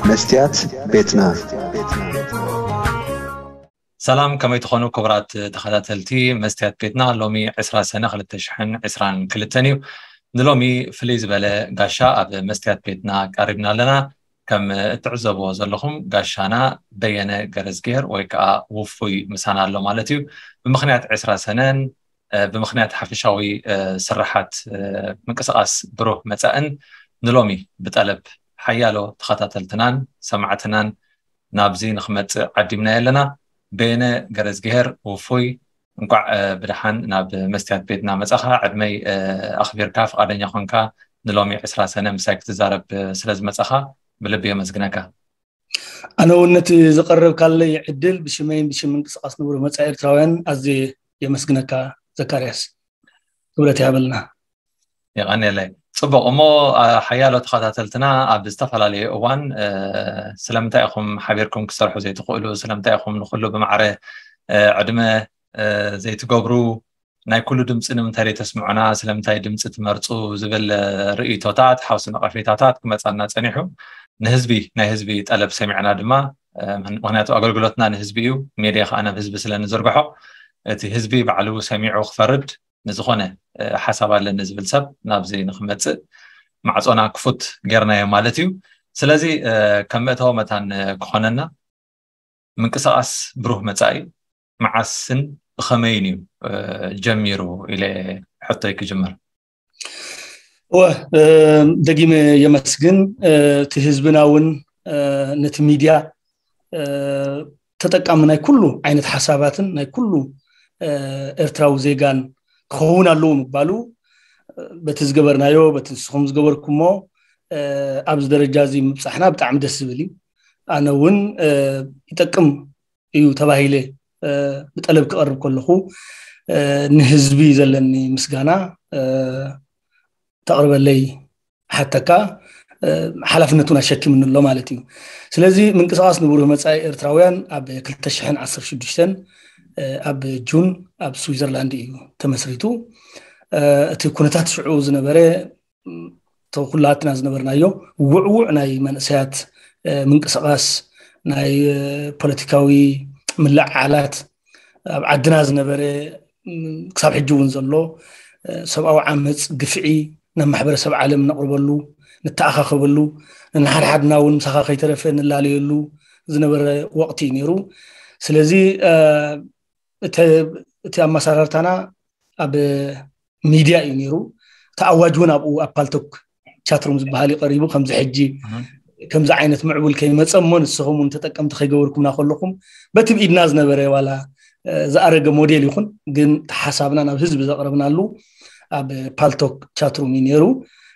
መስትያት ቤትና። ሰላም፣ ከመይ ትኾኑ ክቡራት ተኸታተልቲ መስትያት ቤትና? ሎሚ ዕስራ ሰነ ክልተ ሽሕን ዕስራን ክልተን እዩ። ንሎሚ ፍልይ ዝበለ ጋሻ ኣብ መስትያት ቤትና ቀሪብና ኣለና። ከም እትዕዘብዎ ዘለኹም፣ ጋሻና በየነ ገረዝግሄር ወይ ከዓ ውፉይ ምሳና ኣሎ ማለት እዩ። ብምኽንያት ዕስራ ሰነን፣ እ፣ ብምኽንያት ሓፈሻዊ፣ እ፣ ስራሓት፣ እ፣ ምንቅስቓስ ብሩህ መጻእን ንሎሚ ብጠለብ ሓያሎ ተኸታተልትናን ሰማዕትናን ናብዚ ንኽመጽእ ዓዲምናዮ ኣለና። በየነ ገረዝግሄር ውፉይ፣ እንቋዕ፣ እ፣ ብደሓን ናብ መስትያት ቤትና መጻኻ። ዕድመይ፣ እ፣ ኣኽቢርካ ፍቓደኛ ኾንካ ንሎሚ ዕስራ ሰነ ምሳይ ክትዛረብ፣ እ፣ ስለ ዝመጻኻ ብልቢ የመስግነካ። ኣነ እውን ነቲ ዘቐረብካለይ ዕድል ብሽመይን ብሽም ምንቅስቓስ ንብሩህ መጻኢ ኤርትራውያን ኣዝየ የመስግነካ ዘካርያስ። ክብረት ይሃበልና። የቐንየለይ። ጽቡቕ እሞ፣ ኣ፣ ሓያሎ ተኸታተልትና ኣብ ዝተፈላለየ እዋን፣ እ፣ ስለምንታይ ኢኹም ሓቢርኩም ክትሰርሑ ዘይትኽእሉ፣ ስለምንታይ ኢኹም ንኹሉ ብማዕረ፣ እ፣ ዕድመ፣ እ፣ ዘይትገብሩ፣ ናይ ኩሉ ድምፂ ንምንታይ ዘይተስምዑና፣ ስለምንታይ ድምፂ ትመርፁ ዝብል፣ እ፣ ርእይቶታት፣ ሓውሲ ነቐፌታታት ክመፃና ፀኒሑ። ንህዝቢ፣ ናይ ህዝቢ ጠለብ ሰሚዕና ድማ፣ እ፣ ምኽንያቱ ኣገልግሎትና ንህዝቢ እዩ፣ ሜድያ ከዓ ናብ ህዝቢ ስለ ንዝርግሖ፣ እቲ ህዝቢ ባዕሉ ሰሚዑ ክፈርድ፣ ንዝኾነ፣ እ፣ ሓሳብ ኣለኒ ዝብል ሰብ ናብዚ ንክመፅእ ማዕፆና ክፉት ጌርናዮ ማለት እዩ። ስለዚ፣ እ፣ ከም መእተዊ መታን፣ እ፣ ክኾነና፣ ምንቅስቓስ ብሩህ መጻኢ መዓስን ብኸመይን እዩ፣ እ፣ ጀሚሩ ኢለ ሕቶይ ክጅምር። እወ፣ እ፣ ደጊመ የመስግን። እ፣ እቲ ህዝብና እውን፣ እ፣ ነቲ ሚድያ፣ እ፣ ተጠቃሚ ናይ ኩሉ ዓይነት ሓሳባትን ናይ ኩሉ፣ እ፣ ኤርትራዊ ዜጋን ክኸውን ኣለዎ ምባሉ፣ እ፣ በቲ ዝገበርናዮ፣ በቲ ንስኹም ዝገበርኩሞ፣ እ፣ ኣብዚ ደረጃ እዚ ምብጻሕና ብጣዕሚ ደስ ዝብል እዩ። ኣነ እውን፣ እ፣ ይጠቅም እዩ ተባሂለ፣ እ፣ ብጠለብ ክቐርብ ከለኹ፣ እ፣ ንህዝቢ ዘለኒ ምስጋና፣ እ፣ ተቕርበለይ ሓተካ፣ እ፣ ሓላፍነቱን ኣሸኪምኒ ኣሎ ማለት እዩ። ስለዚ ምንቅስቓስ ንብሩህ መጻኢ ኤርትራውያን ኣብ ክልተ ሽሕን ዓሰርተ ሽዱሽተን፣ እ፣ ኣብ ጁን ኣብ ስዊዘርላንድ እዩ ተመስሪቱ። እ፣ እቲ ኩነታት ሽዑ ዝነበረ፣ ም፣ እቶ ኩላትና ዝነበርናዮ ውዕዉዕ ናይ መንእሰያት፣ እ፣ ምንቅስቓስ፣ ናይ፣ እ፣ ፖለቲካዊ ምልዕዓላት፣ ኣብ ዓድና ዝነበረ፣ ም፣ ክሳብ ሕጂ እውን ዘሎ፣ እ፣ ሰብኣዊ ዓመፅ፣ ግፍዒ ናብ ማሕበረሰብ ዓለም ነቕርበሉ፣ ንተኣኻኸበሉ፣ ንሓድሓድና እውን ምሳኻ ከይተረፈ ንላለየሉ ዝነበረ ወቕቲ እዩ ነይሩ። ስለዚ፣ እ፣ እተ-፣ እቲ ኣመሰራርታና ኣብ ሚድያ እዩ ነይሩ። እቲ ኣዋጅ እውን ኣብኡ ኣብ ፓልቶክ ቻትሩም ዝበሃል እዩ ቀሪቡ። ከምዚ ሕጂ እህ። ከምዚ ዓይነት ምዕቡል ከይመጸ እሞ ንስኹም እውን ተጠቀምቲ ከይገበርኩምና ከለኹም በቲ ብኢድና ዝነበረ ዋላ፣ እ፣ ዝኣረገ ሞዴል ይኹን፣ ግን እቲ ሓሳብና ናብ ህዝቢ ዘቕረብናሉ ኣብ ፓልቶክ ቻትሩም እዩ ነይሩ።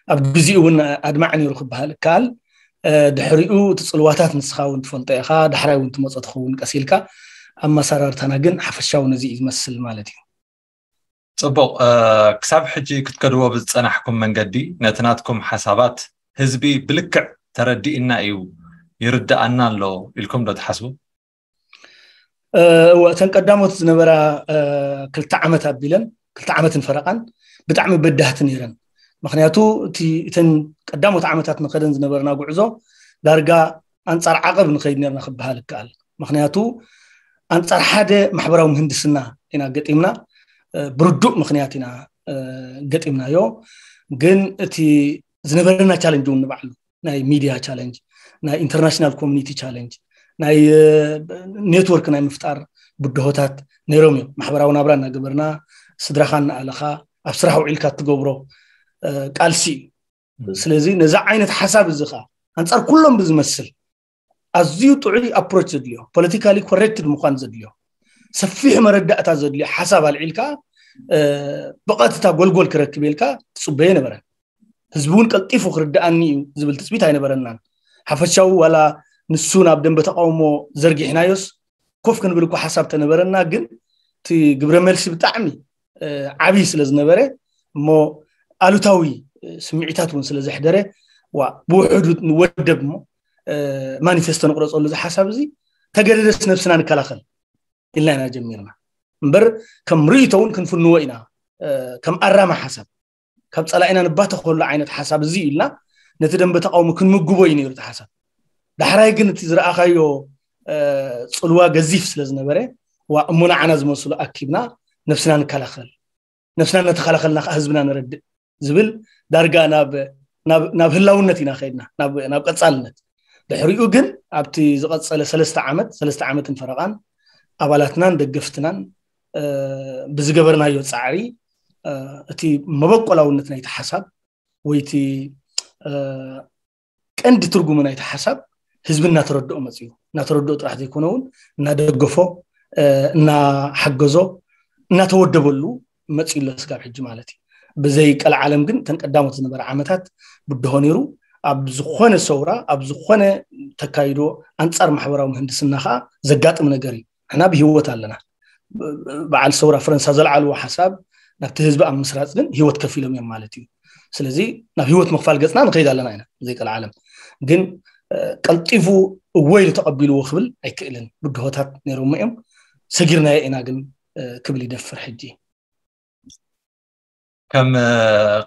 ኣብ ግዜኡ እውን ኣድማዒ ነይሩ ክበሃል ይከኣል። እ፣ ድሕሪኡ እቲ ጽልዋታት ንስኻ እውን ትፈልጦ ኢኻ፣ ዳሕራይ እውን ትመጾ ትኸውን ቀስ ኢልካ። ኣመሰራርታና ግን ሓፈሻዊ ነዚ እዩ ዝመስል ማለት እዩ። ጽቡቕ፣ እ፣ ክሳብ ሕጂ ክትከድዎ ብዝጸናሕኩም መንገዲ ነቲ ናትኩም ሓሳባት ህዝቢ ብልክዕ ተረዲእና እዩ፣ ይርድኣና ኣሎ ኢልኩም ዶ ትሓስቡ? እ፣ እወ፣ እተን ቀዳሞት ዝነበራ፣ እ፣ ክልተ ዓመት ኣቢለን፣ ክልተ ዓመትን ፈረቓን ብጣዕሚ በዳህቲ ነይረን። ምኽንያቱ እቲ፣ እተን ቀዳሞት ዓመታት ንኸደን ዝነበርና ጉዕዞ ዳርጋ ኣንጻር ዓቐብ ንኸይድ ነርና ክበሃል ይከኣል። ምኽንያቱ ኣንጻር ሓደ ማሕበራዊ ምህንድስና ኢና ገጢምና፣ እ፣ ብርዱእ ምኽንያት ኢና፣ እ፣ ገጢምናዮ። ግን እቲ ዝነበረና ቻለንጅ እውን ንባዕሉ ናይ ሚድያ ቻለንጅ፣ ናይ ኢንተርናሽናል ኮሚኒቲ ቻለንጅ፣ ናይ፣ እ፣ ኔትወርክ ናይ ምፍጣር ብድሆታት ነይሮም እዮም። ማሕበራዊ ናብራ እናገበርና፣ ስድራኻ እናኣለኻ፣ ኣብ ስራሕ ውዒልካ እትገብሮ፣ እ፣ ቃልሲ እዩ። ም። ስለዚ ነዚ ዓይነት ሓሳብ እዚ ኸኣ ኣንጻር ኩሎም ብዝመስል ኣዝዩ ጥዑይ ኣፕሮች ዘድልዮ፣ ፖለቲካሊ ኮሬክትድ ምዃን ዘድልዮ፣ ሰፊሕ መረዳእታ ዘድልዮ ሓሳብ ኣልዒልካ፣ እ፣ ብቐጥታ ጎልጎል ክረክብ ኢልካ ትጽበዮ ኣይነበረን። ህዝቢ እውን ቀልጢፉ ክርድኣኒ እዩ ዝብል ትጽቢት ኣይነበረናን። ሓፈሻዊ ዋላ ንሱ ናብ ደንበ ተቃውሞ ዘርጊሕናዮስ ኮፍ ክንብል እኮ ሓሳብ ተነበረና፣ ግን እቲ ግብረ መልሲ ብጣዕሚ፣ እ፣ ዓብዪ ስለ ዝነበረ እሞ ኣሉታዊ፣ እ፣ ስምዒታት እውን ስለ ዘሕደረ፣ ዋ፣ ብውሕዱ ንወደብ እሞ፣ እ፣ ማኒፌስቶ ንቕረጸሉ እዚ ሓሳብ እዚ፣ ተገደደስ ነብስና ንከላኸል ኢልና ኢና ጀሚርና። እምበር ከም ርእይቶ እውን ክንፍንዎ ኢና፣ እ፣ ከም ኣራሚ ሓሳብ። ካብ ጸላኢና ንባተኸሉ ዓይነት ሓሳብ እዚ ኢልና ነቲ ደንበ ተቃውሞ ክንምግቦ እዩ ነይሩ እቲ ሓሳብ። ዳሕራይ ግን እቲ ዝረኣኻዮ ጽልዋ ገዚፍ ስለ ዝነበረ፣ ዋ እሞ ንዓና ዝመስሉ ኣኪብና ነብስና ንከላኸል፣ ነብስና ነተኸላኸልና ከዓ ህዝብና ንረድእ ዝብል ዳርጋ ናብ ናብ ህላውነት ኢና ከይድና ናብ ቀፃልነት። ድሕሪኡ ግን ኣብቲ ዝቐፀለ ሰለስተ ዓመት ሰለስተ ዓመትን ፈረቓን ኣባላትናን ደገፍትናን ብዝገበርናዮ ፃዕሪ እቲ መበቆላውነት ናይቲ ሓሳብ ወይ እቲ ቀንዲ ትርጉሙ ናይቲ ሓሳብ ህዝቢ እናተረድኦ መፅዩ። እናተረድኦ ጥራሕ ዘይኮነ እውን እናደገፎ እናሓገዞ እናተወደበሉ መፅዩ ኣሎ ስጋብ ሕጂ ማለት እዩ። ብዘይ ቀልዓለም ግን እተን ቀዳሞት ዝነበረ ዓመታት ብድሆ ነይሩ። ኣብ ዝኾነ ሰውራ ኣብ ዝኾነ ተካይዶ ኣንፃር ማሕበራዊ ምህንድስና ከዓ ዘጋጥም ነገር እዩ። ንሕና ብሂወት ኣለና። በዓል ሰውራ ፈረንሳ ዘልዓልዎ ሓሳብ ናብቲ ህዝቢ ኣብ ምስራፅ ግን ሂወት ከፊሎም እዮም ማለት እዩ። ስለዚ ናብ ሂወት ምኽፋል ገፅና ንኸይድ ኣለና ኢና ብዘይ ቀልዓለም። ግን ቀልጢፉ እወ ኢሉ ተቐቢልዎ ክብል ኣይክእልን። ብድሆታት ነይሮሞ እዮም፣ ሰጊርናዮ ኢና ግን ክብል ይደፍር ሕጂ። ከም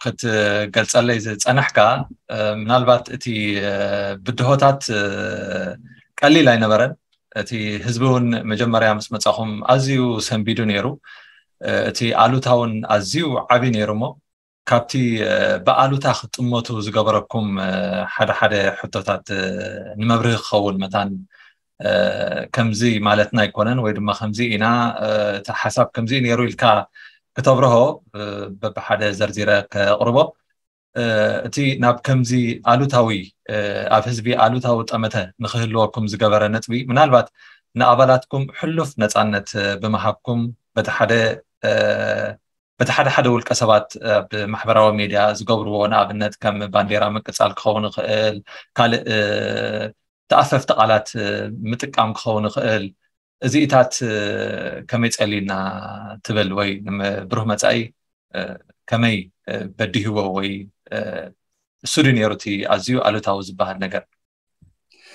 ክትገልፀለይ ዝፀናሕካ ምናልባት እቲ ብድሆታት ቀሊል ኣይነበረን። እቲ ህዝቢ እውን መጀመርያ ምስ መፃኹም ኣዝዩ ሰንቢዱ ነይሩ። እቲ ኣሉታ እውን ኣዝዩ ዓብዪ ነይሩ እሞ ካብቲ ብኣሉታ ክትጥመቱ ዝገበረኩም ሓደ ሓደ ሕቶታት ንመብርሂ ክኸውን መታን ከምዚ ማለትና ኣይኮነን ወይ ድማ ከምዚ ኢና እቲ ሓሳብ ከምዚ ነይሩ ኢልካ ክተብርሆ በብሓደ ዘርዚረ ከቕርቦ። እቲ ናብ ከምዚ ኣሉታዊ ኣብ ህዝቢ ኣሉታዊ ጠመተ ንክህልወኩም ዝገበረ ነጥቢ ምናልባት ንኣባላትኩም ሕሉፍ ነፃነት ብምሃብኩም በቲ ሓደ በቲ ሓደ ሓደ ውልቀ ሰባት ኣብ ማሕበራዊ ሚድያ ዝገብርዎ ንኣብነት ከም ባንዴራ ምቅፃል ክኸውን ይኽእል፣ ካልእ ተኣፈፍቲ ቃላት ምጥቃም ክኸውን ይኽእል። እዚኢታት ከመይ ፀሊልና ትብል ወይ ብሩህ መፃኢ ከመይ በዲህዎ ወይ እሱ ድዩ ነይሩ እቲ ኣዝዩ ኣሉታዊ ዝበሃል ነገር?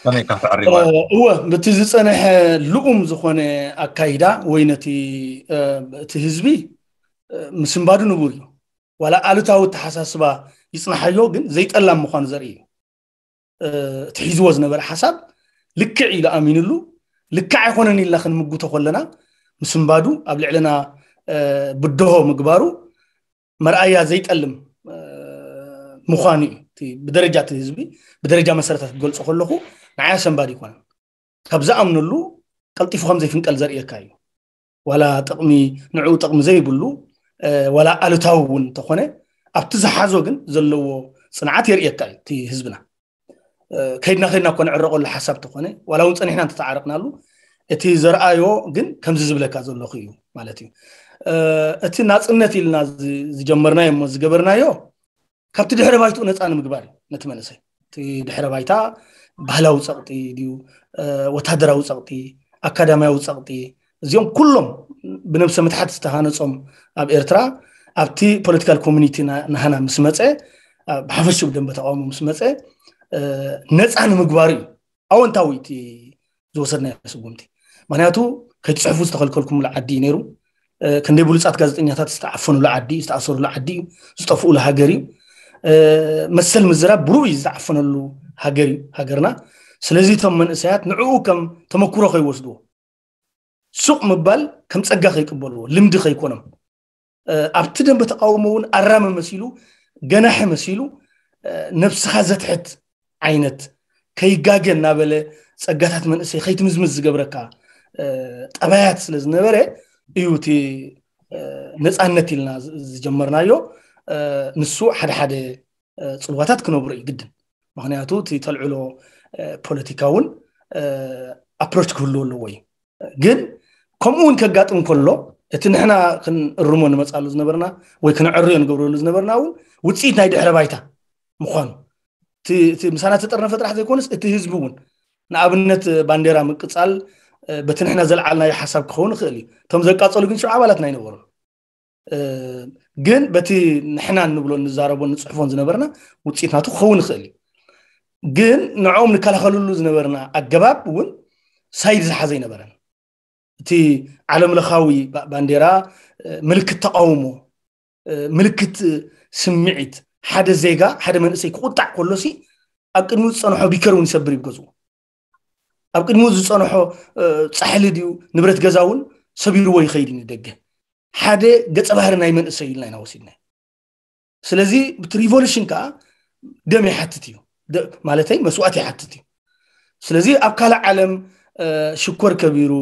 ከመይ ኢካ ተዕሪባ? እወ፣ በቲ ዝፀንሐ ልኡም ዝኾነ ኣካይዳ ወይ ነቲ እቲ ህዝቢ ምስንባዱ ንቡር እዩ። ዋላ ኣሉታዊ ኣተሓሳስባ ይፅናሓዮ፣ ግን ዘይጠላም ምዃኑ ዘርኢ እዩ። እቲ ሒዝዎ ዝነበረ ሓሳብ ልክዕ ኢሉ ኣሚንሉ፣ ልክዕ ኣይኮነን ኢልና ክንምጉቶ ከለና ምስንባዱ ኣብ ልዕልና ብድሆ ምግባሩ መርኣያ ዘይጠልም ምዃኑ እዩ። ብደረጃ እቲ ህዝቢ ብደረጃ መሰረታት ክገልፆ ከለኹ ንዓይ ኣሰንባዲ ይኮነን። ካብ ዝኣምነሉ ቀልጢፉ ከም ዘይፍንቀል ዘርእየካ እዩ። ዋላ ጥቕሚ ንዕኡ ጥቕሚ ዘይብሉ ዋላ ኣሉታዊ እውን እንተኾነ ኣብቲ ዝሓዞ ግን ዘለዎ ፅንዓት የርእየካ እዩ እቲ ህዝብና። ከይድና ከይድና እኮ ንዕረቐሉ ሓሳብ ተኾነ ዋላ እውን ፀኒሕና እንተተዓረቕናሉ እቲ ዘርኣዮ ግን ከምዚ ዝብለካ ዘለኹ እዩ ማለት እዩ። እቲ ናፅነት ኢልና ዝጀመርናዮ እሞ ዝገበርናዮ ካብቲ ድሕረ ባይትኡ ነፃ ንምግባር እዩ። ነቲ መንእሰይ እቲ ድሕረ ባይታ ባህላዊ ፀቕጢ ድዩ፣ ወታደራዊ ፀቕጢ፣ ኣካዳሚያዊ ፀቕጢ፣ እዚኦም ኩሎም ብነብሰ ምትሓት ዝተሃነፆም ኣብ ኤርትራ ኣብቲ ፖለቲካል ኮሚኒቲ ናህና ምስ መፀ፣ ብሓፈሽኡ ብደንበ ተቃውሞ ምስ መፀ ነፃ ንምግባሩ እዩ ኣወንታዊ እቲ ዝወሰድናዮ ስጉምቲ። ምክንያቱ ከይትፅሕፉ ዝተኸልከልኩምሉ ዓዲ እዩ ነይሩ። ክንደይ ብሉፃት ጋዜጠኛታት ዝተዓፈኑሉ ዓዲ እዩ፣ ዝተኣሰሩሉ ዓዲ እዩ፣ ዝጠፍኡሉ ሃገር እዩ። መሰል ምዝራብ ብሩኡ እዩ ዝተዓፈነሉ ሃገር እዩ ሃገርና። ስለዚ እቶም መንእሰያት ንዕኡ ከም ተመክሮ ከይወስድዎ ሱቕ ምባል ከም ፀጋ ከይቅበልዎ ልምዲ ከይኮኖም ኣብቲ ደንበ ተቃውሞ እውን ኣራሚ መሲሉ ገናሒ መሲሉ ነብስኻ ዘትሕት ዓይነት ከይጋገ እናበለ ፀጋታት መንእሰይ ከይትምዝምዝ ዝገብረካ ጠባያት ስለ ዝነበረ እዩ እቲ ነፃነት ኢልና ዝጀመርናዮ። ንሱ ሓደ ሓደ ፅልዋታት ክነብሮ እዩ ግድን። ምክንያቱ እቲ ተልዕሎ ፖለቲካ እውን ኣፕሮች ክህልዎ ኣለዎ እዩ። ግን ከምኡ እውን ከጋጥም ከሎ እቲ ንሕና ክንእርሞ ንመፃሉ ዝነበርና ወይ ክንዕርዮ ንገብረሉ ዝነበርና እውን ውፅኢት ናይ ድሕረ ባይታ ምኳኑ እቲ ምሳና ተጠርነፈ ጥራሕ ዘይኮነስ እቲ ህዝቢ እውን ንኣብነት ባንዴራ ምቅፃል በቲ ንሕና ዘልዓልናዮ ሓሳብ ክኸውን ይኽእል እዩ። እቶም ዘቃፀሉ ግን ሽዑ ኣባላትና ኣይነበሩን። ግን በቲ ንሕና እንብሎ እንዛረቦ ንፅሕፎን ዝነበርና ውፅኢት ናቱ ክኸውን ይኽእል እዩ። ግን ንዕኦም ንከላኸልሉ ዝነበርና ኣገባብ እውን ሳይድ ዝሓዘ ኣይነበረን። እቲ ዓለምለኻዊ ባንዴራ ምልክት ተቃውሞ፣ ምልክት ስምዒት፣ ሓደ ዜጋ ሓደ መንእሰይ ክቁጣዕ ከሎሲ ኣብ ቅድሚኡ ዝፀንሖ ቢከር እውን ይሰብር እዩ ገዝኡ። ኣብ ቅድሚኡ ዝፀንሖ ፃሕሊ ድዩ ንብረት ገዛ እውን ሰቢርዎ ይኸይድ እዩ ንደገ። ሓደ ገፀ ባህሪ ናይ መንእሰይ ኢልና ኢና ወሲድና። ስለዚ ብቲ ሪቮሉሽን ከዓ ደም ይሓትት እዩ፣ ማለተይ መስዋእት ይሓትት እዩ። ስለዚ ኣብ ካልእ ዓለም ሽኮር ከቢሩ፣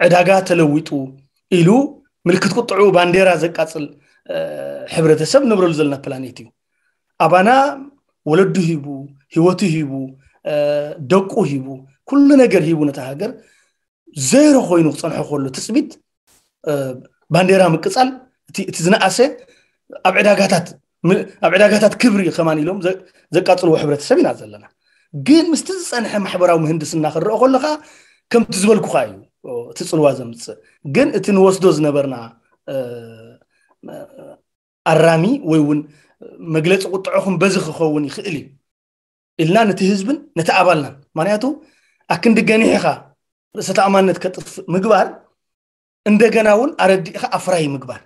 ዕዳጋ ተለዊጡ ኢሉ ምልክት ቁጥዑ ባንዴራ ዘቃፅል ሕብረተሰብ ንብረሉ ዘለና ፕላኔት እዩ። ኣባና ወለዱ ሂቡ፣ ህይወቱ ሂቡ፣ ደቁ ሂቡ፣ ኩሉ ነገር ሂቡ ነታ ሃገር ዜሮ ኮይኑ ክፀንሖ ከሎ ትፅቢት ባንዴራ ምቅፃል እቲ ዝነኣሰ ኣብ ዕዳጋታት ኣብ ዕዳጋታት ክብሪ ከማን ኢሎም ዘቃፅልዎ ሕብረተሰብ ኢና ዘለና። ግን ምስቲ ዝፀንሐ ማሕበራዊ ምህንድስና ክረኦ ከለካ ከምቲ ዝበልኩካ እዩ እቲ ፅልዋ ዘምፅእ። ግን እቲ ንወስዶ ዝነበርና ኣራሚ ወይ እውን መግለፂ ቁጥዖኹም በዚ ክኸውን ይኽእል እዩ ኢልና ነቲ ህዝብን ነቲ ኣባልናን፣ ምክንያቱ ኣክንዲ ገኒሕኻ ርእሰ ተኣማንነት ከጥፍእ ምግባር እንደገና እውን ኣረዲእኻ ኣፍራይ ምግባር።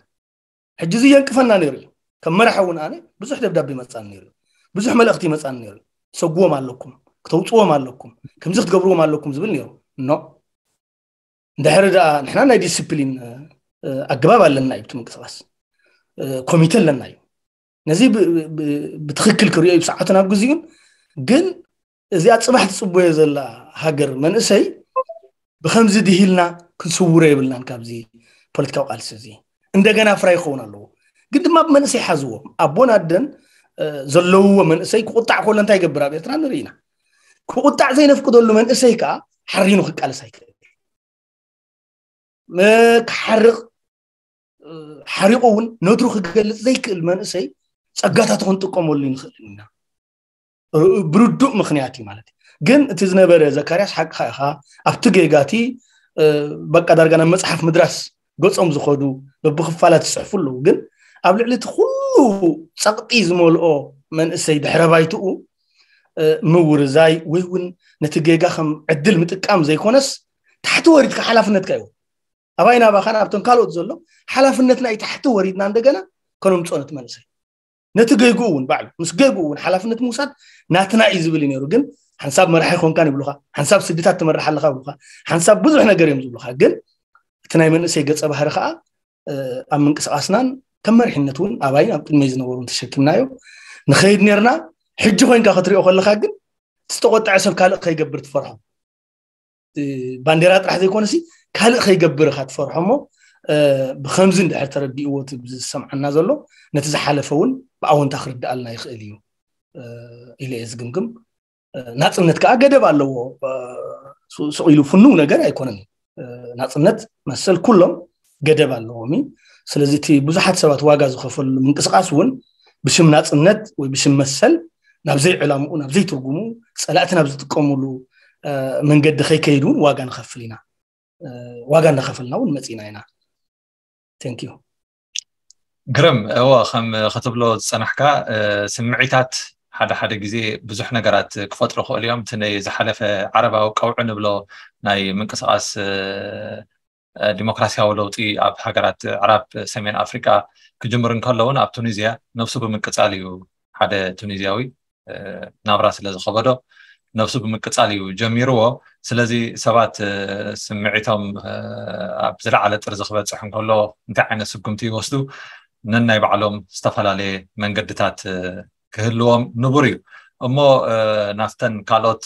ሕጂ እዚ የንቅፈና ነይሩ እዩ። ከም መራሒ እውን ኣነ ብዙሕ ደብዳቤ ይመፃኒ ነይሩ፣ ብዙሕ መልእኽቲ ይመፃኒ ነይሩ። ትሰጉዎም ኣለኩም፣ ክተውፅዎም ኣለኩም፣ ከምዚ ክትገብርዎም ኣለኩም ዝብል ነይሩ። ኖ፣ እንድሕሪ ደኣ ንሕና ናይ ዲስፕሊን ኣገባብ ኣለና እዩ፣ እቲ ምንቅስቃስ ኮሚቴ ኣለና እዩ። ነዚ ብትክክል ክሪኦ እዩ ብሰዓቱን ኣብ ግዜኡን። ግን እዚኣ ፅባሕ ትፅበዮ ዘላ ሃገር መንእሰይ ብከምዚ ድሂልና ክንስውሮ የብልናን። ካብዚ ፖለቲካዊ ቃልሲ እዚ እንደገና ፍራይ ክኸውን ኣለዎ። ግን ድማ ብመንእሰይ ሓዝዎ። ኣቦን ኣደን ዘለውዎ መንእሰይ ክቁጣዕ ከሎ እንታይ ይገብር ኣብ ኤርትራ ንርኢ ኢና። ክቁጣዕ ዘይነፍቅደሉ መንእሰይ ከዓ ሓሪኑ ክቃለስ ኣይክእል። ክሓርቕ ሓሪቑ እውን ነድሩ ክገልፅ ዘይክእል መንእሰይ ጸጋታቱ ክንጥቀመሉ ንኽእል ኢና። ብርዱእ ምኽንያት እዩ ማለት እዩ። ግን እቲ ዝነበረ ዘካርያስ ሓቅኻ ኢኻ። ኣብቲ ጌጋቲ በቃ ዳርጋ ናብ መጽሓፍ ምድራስ ገጾም ዝኸዱ በብኽፋላት ዝጽሕፉ ኣለዉ። ግን ኣብ ልዕሊ እቲ ኩሉ ጸቕጢ ዝመልኦ መንእሰይ ድሕረ ባይትኡ ምውርዛይ ወይ እውን ነቲ ጌጋ ከም ዕድል ምጥቃም ዘይኮነስ ታሕቲ ወሪድካ ሓላፍነትካ እዩ። ኣባይ ናባኻን ኣብቶም ካልኦት ዘሎ ሓላፍነትና እዩ። ታሕቲ ወሪድና እንደገና ከነምፅኦ ነቲ መንእሰይ ነቲ ገይጉ እውን ባዕሉ ምስ ገይጉ እውን ሓላፍነት ምውሳድ ናትና እዩ ዝብል እዩ ነይሩ። ግን ሓንሳብ መራሒ ኮንካን ይብሉካ፣ ሓንሳብ ስድታት ትመርሕ ኣለካ ይብሉካ፣ ሓንሳብ ብዙሕ ነገር እዮም ዝብሉካ። ግን እቲ ናይ መንእሰይ ገፀ ባህሪ ከዓ ኣብ ምንቅስቃስናን ከም መሪሕነት እውን ኣባይን ኣብ ቅድመይ ዝነበሩን ተሸኪምናዮ ንኸይድ ነርና። ሕጂ ኮይንካ ክትሪኦ ከለካ ግን ዝተቆጠዐ ሰብ ካልእ ከይገብር ትፈርሖ። ባንዴራ ጥራሕ ዘይኮነሲ ካልእ ከይገብር ኢኻ ትፈርሖ እሞ ብከምዚ እንድሕር ተረዲእዎ እቲ ዝሰምዓና ዘሎ ነቲ ዝሓለፈ እውን ብኣወንታ ክርድኣልና ይኽእል እዩ ኢለ እየ ዝግምግም። ናፅነት ከዓ ገደብ ኣለዎ። ስቕ ኢሉ ፍኑው ነገር ኣይኮነን። ናፅነት መሰል ኩሎም ገደብ ኣለዎም እዩ። ስለዚ እቲ ብዙሓት ሰባት ዋጋ ዝኸፈሉ ምንቅስቃስ እውን ብሽም ናፅነት ወይ ብሽም መሰል ናብ ዘይዕላምኡ ናብ ዘይትርጉሙ ፀላእቲ ናብ ዝጥቀሙሉ መንገዲ ከይከይድ እውን ዋጋ ንኸፍል ኢና። ዋጋ እናኸፈልና እውን መፂና ኢና። Thank you። ግርም። እዎ፣ ከም ክትብሎ ዝፀናሕካ ስምዒታት ሓደ ሓደ ግዜ ብዙሕ ነገራት ክፈጥሩ ክእሉ እዮም። እቲ ናይ ዝሓለፈ ዓረባዊ ቀውዒ ንብሎ ናይ ምንቅስቃስ ዲሞክራሲያዊ ለውጢ ኣብ ሃገራት ኣዕራብ ሰሜን ኣፍሪቃ ክጅምር እንከሎ እውን ኣብ ቱኒዝያ ነብሱ ብምቅፃል እዩ ሓደ ቱኒዝያዊ ናብራ ስለ ዝኸበዶ ነብሱ ብምቅፃል እዩ ጀሚርዎ። ስለዚ ሰባት ስምዒቶም ኣብ ዝለዓለ ጥርዚ ክበፅሕ እንከሎ እንታይ ዓይነት ስጉምቲ ይወስዱ ነናይ ባዕሎም ዝተፈላለየ መንገድታት ክህልዎም ንቡር እዩ። እሞ ናፍተን ካልኦት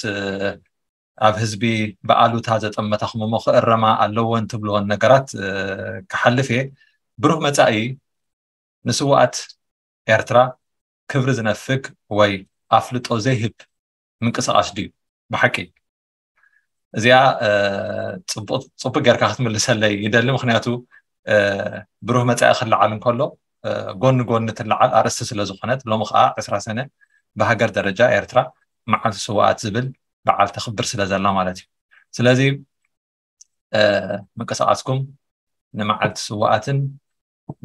ኣብ ህዝቢ ብኣሉታ ዘጠመታኹም እሞ ክእረማ ኣለወን ትብልወን ነገራት ክሓልፍ እየ። ብሩህ መፃኢ ንስውኣት ኤርትራ ክብሪ ዝነፍግ ወይ ኣፍልጦ ዘይህብ ምንቅስቃስ ድዩ ብሓቂ? እዚኣ ፅቡቅ ጌርካ ክትምልሰለይ ይደሊ። ምክንያቱ ብሩህ መፃኢ ክለዓል እንከሎ ጎኒ ጎኒ ትለዓል ኣርእስቲ ስለዝኮነት ሎሚ ከዓ ዕስራ ሰነ ብሃገር ደረጃ ኤርትራ መዓልቲ ስውኣት ዝብል በዓል ተኽብር ስለዘላ ማለት እዩ። ስለዚ ምንቅስቃስኩም ንመዓልቲ ስውኣትን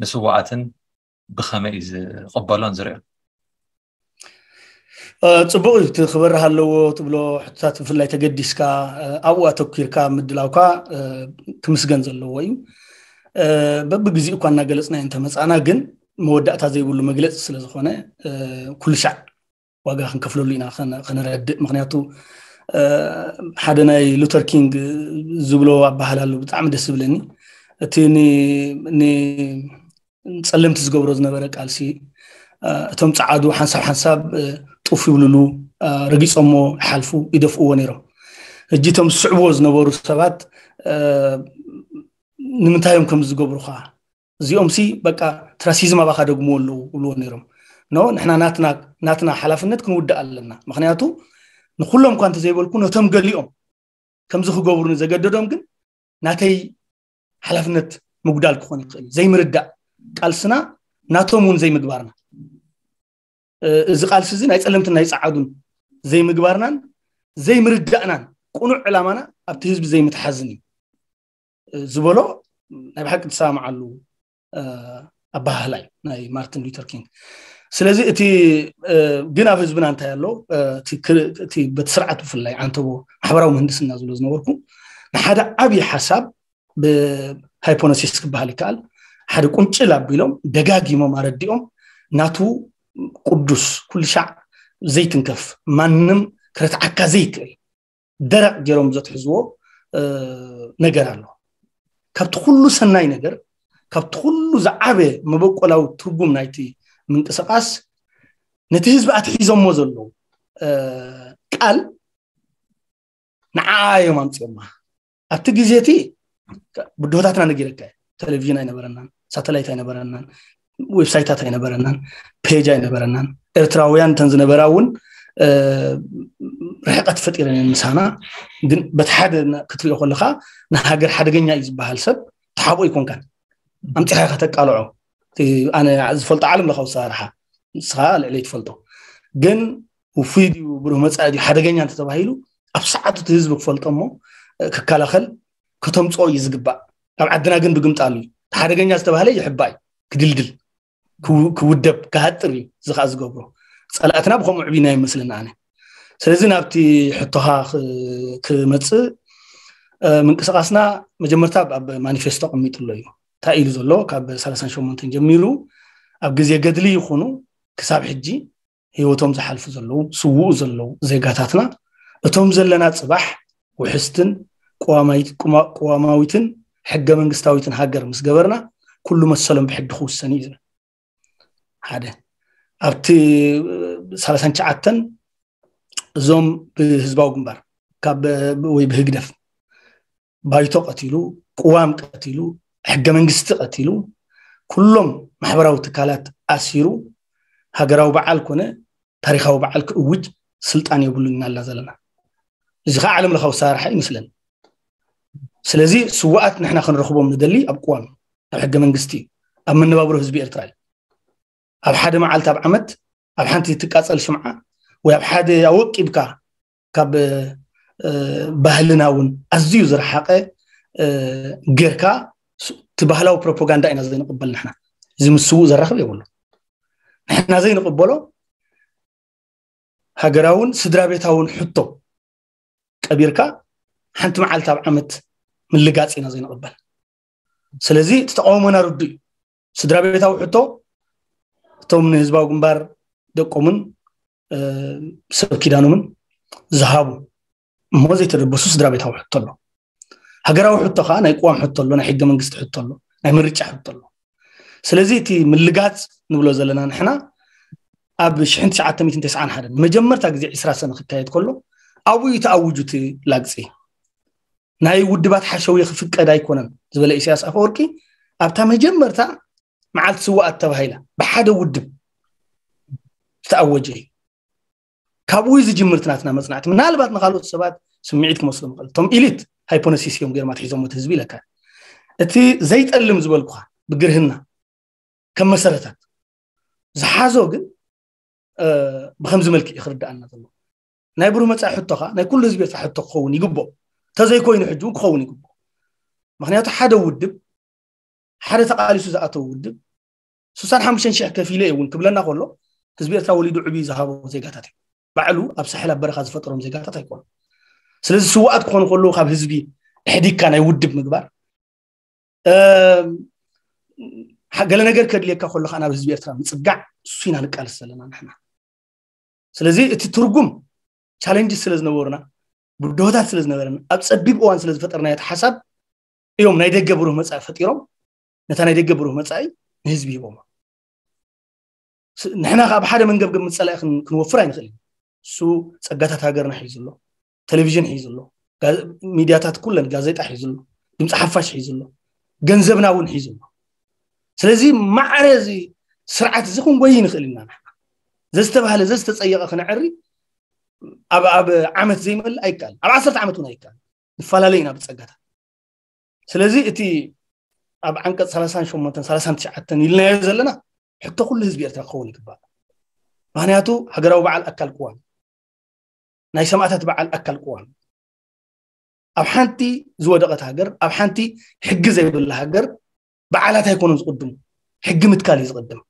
ንስውኣትን ብኸመይ እዩ ዝቕበሎን ዝሪኦ? ፅቡቅ እዩ። እቲ ክበርህ ኣለዎ ትብሎ ሕቶታት ብፍላይ ተገዲስካ ኣብኡ ኣተኪርካ ምድላውካ ክምስገን ዘለዎ እዩ። በብግዜኡ እኳ እናገለፅናዮ እንተመፃእና ግን መወዳእታ ዘይብሉ መግለፂ ስለዝኾነ ኩሉ ሻዕ ዋጋ ክንከፍለሉ ኢና ከነረድእ። ምክንያቱ ሓደ ናይ ሉተር ኪንግ ዝብሎ ኣባህላ ኣሎ፣ ብጣዕሚ ደስ ዝብለኒ። እቲ ንፀለምቲ ዝገብሮ ዝነበረ ቃልሲ፣ እቶም ፀዓዱ ሓንሳብ ሓንሳብ ጡፍ ይብልሉ፣ ረጊፆሞ ይሓልፉ፣ ይደፍእዎ ነይሮም። እጂ እቶም ዝስዕብዎ ዝነበሩ ሰባት ንምንታይ እዮም ከም ዝገብሩኻ? እዚኦም ሲ በቃ ትራሲዝም ኣባኻ ደግምዎ ኣለዉ ይብልዎ ነይሮም። ኖ፣ ንሕና ናትና ሓላፍነት ክንውድእ ኣለና። ምክንያቱ ንኩሎም እኳ እንተዘይበልኩ፣ ነቶም ገሊኦም ከምዚ ክገብሩኒ ዘገደዶም ግን ናተይ ሓላፍነት ምጉዳል ክኾን ይኽእል እዩ። ዘይምርዳእ ቃልስና ናቶም እውን ዘይምግባርና። እዚ ቃልሲ እዚ ናይ ፀለምትን ናይ ፀዓዱን ዘይምግባርናን ዘይምርዳእናን ቅኑዕ ዕላማና ኣብቲ ህዝቢ ዘይምትሓዝን እዩ ዝበሎ ናይ ብሓቂ ትሰማማዓሉ ኣባህላ እዩ ናይ ማርቲን ሉተር ኪንግ። ስለዚ እቲ ግን ኣብ ህዝብና እንታይ ኣሎ፣ በቲ ስርዓት ብፍላይ ዓንተቦ ማሕበራዊ ምህንድስና ዝብሎ ዝነበርኩ፣ ንሓደ ዓብዪ ሓሳብ ብሃይፖነሲስ ክበሃል ይከኣል፣ ሓደ ቁንጭል ኣቢሎም ደጋጊሞም ኣረዲኦም፣ ናቱ ቅዱስ ኩሉ ሻዕ ዘይትንከፍ ማንም ክረትዓካ ዘይክእል ደረቕ ገይሮም ዘትሕዝዎ ነገር ኣሎ። ካብቲ ኩሉ ሰናይ ነገር፣ ካብቲ ኩሉ ዝዓበ መበቆላዊ ትርጉም ናይቲ ምንቅስቃስ፣ ነቲ ህዝቢ ኣትሒዞሞ ዘለዉ ቃል ንዓ እዮም ኣምፅኦማ። ኣብቲ ግዜ እቲ ብድሆታትና ነጊረካ፣ ቴሌቪዥን ኣይነበረናን፣ ሳተላይት ኣይነበረናን፣ ዌብሳይታት ኣይነበረናን፣ ፔጅ ኣይነበረናን። ኤርትራውያን እተን ዝነበራ እውን ርሕቀት ፈጢረን እየን ምሳና። ግን በቲ ሓደ ክትሪኦ ከለካ ንሃገር ሓደገኛ እዩ ዝበሃል ሰብ ተሓቦ ኣይኮንካን። ኣምፂኻ ኢካ ተቃልዖ። ኣነ ዝፈልጦ ዓለም ለካዊ ኣሰራርሓ ንስኻ ልዕለይ ትፈልጦ። ግን ውፉይ ድዩ ብሩህ መፃኢ ድዩ ሓደገኛ እንተተባሂሉ፣ ኣብ ሰዓቱ እቲ ህዝቢ ክፈልጦ እሞ ክከላኸል ከተምፅኦ እዩ ዝግባእ። ኣብ ዓድና ግን ብግምጣሉ እዩ። ሓደገኛ ዝተባህለ ይሕባእ እዩ፣ ክድልድል፣ ክውደብ፣ ክሃጥር እዩ። እዚ ከዓ ዝገብሮ ፀላእትና ብከምኡ ዕብና ይመስለና ኣነ። ስለዚ ናብቲ ሕቶኻ ክመፅእ፣ ምንቅስቃስና መጀመርታ ኣብ ማኒፌስቶ ቀሚጡ ኣሎ እዩ። እንታይ ኢሉ ዘሎ? ካብ ሰላሳን ሸሞንተን ጀሚሩ ኣብ ግዜ ገድሊ ይኹኑ ክሳብ ሕጂ ህይወቶም ዝሓልፉ ዘለዉ፣ ስውኡ ዘለዉ ዜጋታትና፣ እቶም ዘለና ፅባሕ ውሕስትን ቅዋማዊትን ሕገ መንግስታዊትን ሃገር ምስ ገበርና፣ ኩሉ መሰሎም ብሕጊ ክውሰን እዩ ዝብል። ሓደ። ኣብቲ ሰላሳን ትሽዓተን እዞም ብህዝባዊ ግንባር ካብ ወይ ብህግደፍ ባይቶ ቀቲሉ፣ ቅዋም ቀቲሉ፣ ሕገ መንግስቲ ቀቲሉ፣ ኩሎም ማሕበራዊ ትካላት ኣሲሩ፣ ሃገራዊ በዓል ኮነ ታሪኻዊ በዓል ክእውጅ ስልጣን የብሉን እናላ ዘለና። እዚ ከዓ ዓለም ለኻዊ ኣሰራርሓ ይመስለኒ። ስለዚ ስዋኣት ንሕና ክንረኽቦም ንደሊ ኣብ ቅዋም፣ ኣብ ሕገ መንግስቲ፣ ኣብ መነባብሮ ህዝቢ ኤርትራ እዩ። ኣብ ሓደ መዓልቲ ኣብ ዓመት ኣብ ሓንቲ ትቃፀል ሽምዓ ወይ ኣብ ሓደ ኣወቂብካ ካብ ባህልና እውን ኣዝዩ ዝረሓቐ ጌርካ እቲ ባህላዊ ፕሮፓጋንዳ ኢና ዘይንቕበል። ንሕና እዚ ምስ ስውእ ዘራኽብ የብሉ። ንሕና ዘይንቕበሎ ሃገራውን ስድራ ቤታውን ሕቶ ቀቢርካ ሓንቲ መዓልቲ ኣብ ዓመት ምልጋፅ ኢና ዘይንቕበል። ስለዚ እቲ ተቃውሞና ርዱእ እዩ። ስድራ ቤታዊ ሕቶ እቶም ንህዝባዊ ግንባር ደቆምን ሰብ ኪዳኖምን ዝሃቡ እሞ ዘይተደበሱ ስድራ ቤታዊ ሕቶ ኣሎ። ሃገራዊ ሕቶ ከዓ ናይ ቅዋም ሕቶ ኣሎ፣ ናይ ሕገ መንግስቲ ሕቶ ኣሎ፣ ናይ ምርጫ ሕቶ ኣሎ። ስለዚ እቲ ምልጋፅ ንብሎ ዘለና ንሕና ኣብ ሽሕን ትሽዓተ ሚእትን ተስዓን ሓደን ንመጀመርታ ግዜ ዕስራ ሰነ ክካየድ ከሎ ኣብኡ እዩ ተኣውጁ እቲ ላግፂ። ናይ ውድባት ሓሸውየ ክፍቀድ ኣይኮነን ዝበለ ኢሳያስ ኣፈወርቂ ኣብታ መጀመርታ መዓልቲ ስዋኣት ተባሂላ ብሓደ ውድብ ዝተኣወጀ እዩ። ካብኡ እዩ ዝጅምር እቲ ናትና መፅናዕቲ። ምናልባት ንካልኦት ሰባት ስምዒት ክመስሎም ይኽእል። እቶም ኢሊት ሃይፖነሲስ እዮም ገይሮም ኣትሒዞም እቲ ህዝቢ ኢለካ። እቲ ዘይጠልም ዝበልኩኻ ብግርህና ከም መሰረታት ዝሓዞ ግን ብከምዚ መልክዕ እዩ ክርዳኣና ዘሎ። ናይ ብሩህ መፃኢ ሕቶኻ ናይ ኩሉ ህዝቢ ኤርትራ ሕቶ ክኸውን ይግብኦ። እንተዘይኮይኑ ሕጂ እውን ክኸውን ይግብኦ። ምክንያቱ ሓደ ውድብ፣ ሓደ ተቃሊሱ ዝኣተው ውድብ ስሳን ሓሙሽተን ሽሕ ከፊለ እውን ክብለና ከሎ ህዝቢ ኤርትራ ወሊዱ ዕብዩ ዝሃቦ ዜጋታት እዩ። ባዕሉ ኣብ ሳሕል ኣብ በረኻ ዝፈጠሮም ዜጋታት ኣይኮኑ። ስለዚ ስዋኣት ክኾኑ ከለዉ ካብ ህዝቢ ኣሕዲግካ ናይ ውድብ ምግባር ገለ ነገር ከድልየካ ከሎ ከዓ ናብ ህዝቢ ኤርትራ ምፅጋዕ እሱ ኢና ንቃልስ ዘለና ንሕና። ስለዚ እቲ ትርጉም ቻለንጅ ስለ ዝነበሩና ብድሆታት ስለ ዝነበረን ኣብ ጸቢብ እዋን ስለ ዝፈጠርናዮ እቲ ሓሳብ እዮም ናይ ደገ ብሩህ መጻኢ ፈጢሮም። ነታ ናይ ደገ ብሩህ መጻኢ ንህዝቢ ሂቦማ። ስ- ንሕና ከኣ ብሓደ መንገብገብ ምጸላኢ ክን- ክንወፍር ኣይንኽእል ኢና። እሱ ጸጋታት ሃገርና ሒዙ ኣሎ፣ ቴሌቪዥን ሒዙ ኣሎ፣ ጋ- ሚድያታት ኩለን፣ ጋዜጣ ሒዙ ኣሎ፣ ድምፂ ሓፋሽ ሒዙ ኣሎ፣ ገንዘብና እውን ሒዙ ኣሎ። ስለዚ ማዕረ እዚ ስርዓት እዚ ክንጎይ ንኽእል ኢና። ንሕና ዘዝተባህለ ዘዝተፀየቐ ክነዕሪ ኣብ ኣብ ዓመት ዘይመልእ ኣይከኣል፣ ኣብ ዓሰርተ ዓመት እውን ኣይከኣል። ንፈላለ ኢና ብፀጋታት። ስለዚ እቲ ኣብ ዓንቀፅ ሰላሳን ሸሞንተን ሰላሳን ትሽዓተን ኢልናዮ ዘለና ሕቶ ኩሉ ህዝቢ ኤርትራ ክኸውን ይግባእ። ምክንያቱ ሃገራዊ በዓል ኣካል ቅዋም፣ ናይ ሰማእታት በዓል ኣካል ቅዋም። ኣብ ሓንቲ ዝወደቐት ሃገር፣ ኣብ ሓንቲ ሕጊ ዘይብላ ሃገር በዓላት ኣይኮኑን ዝቕድሙ፣ ሕጊ ምትካል እዩ ዝቕድም።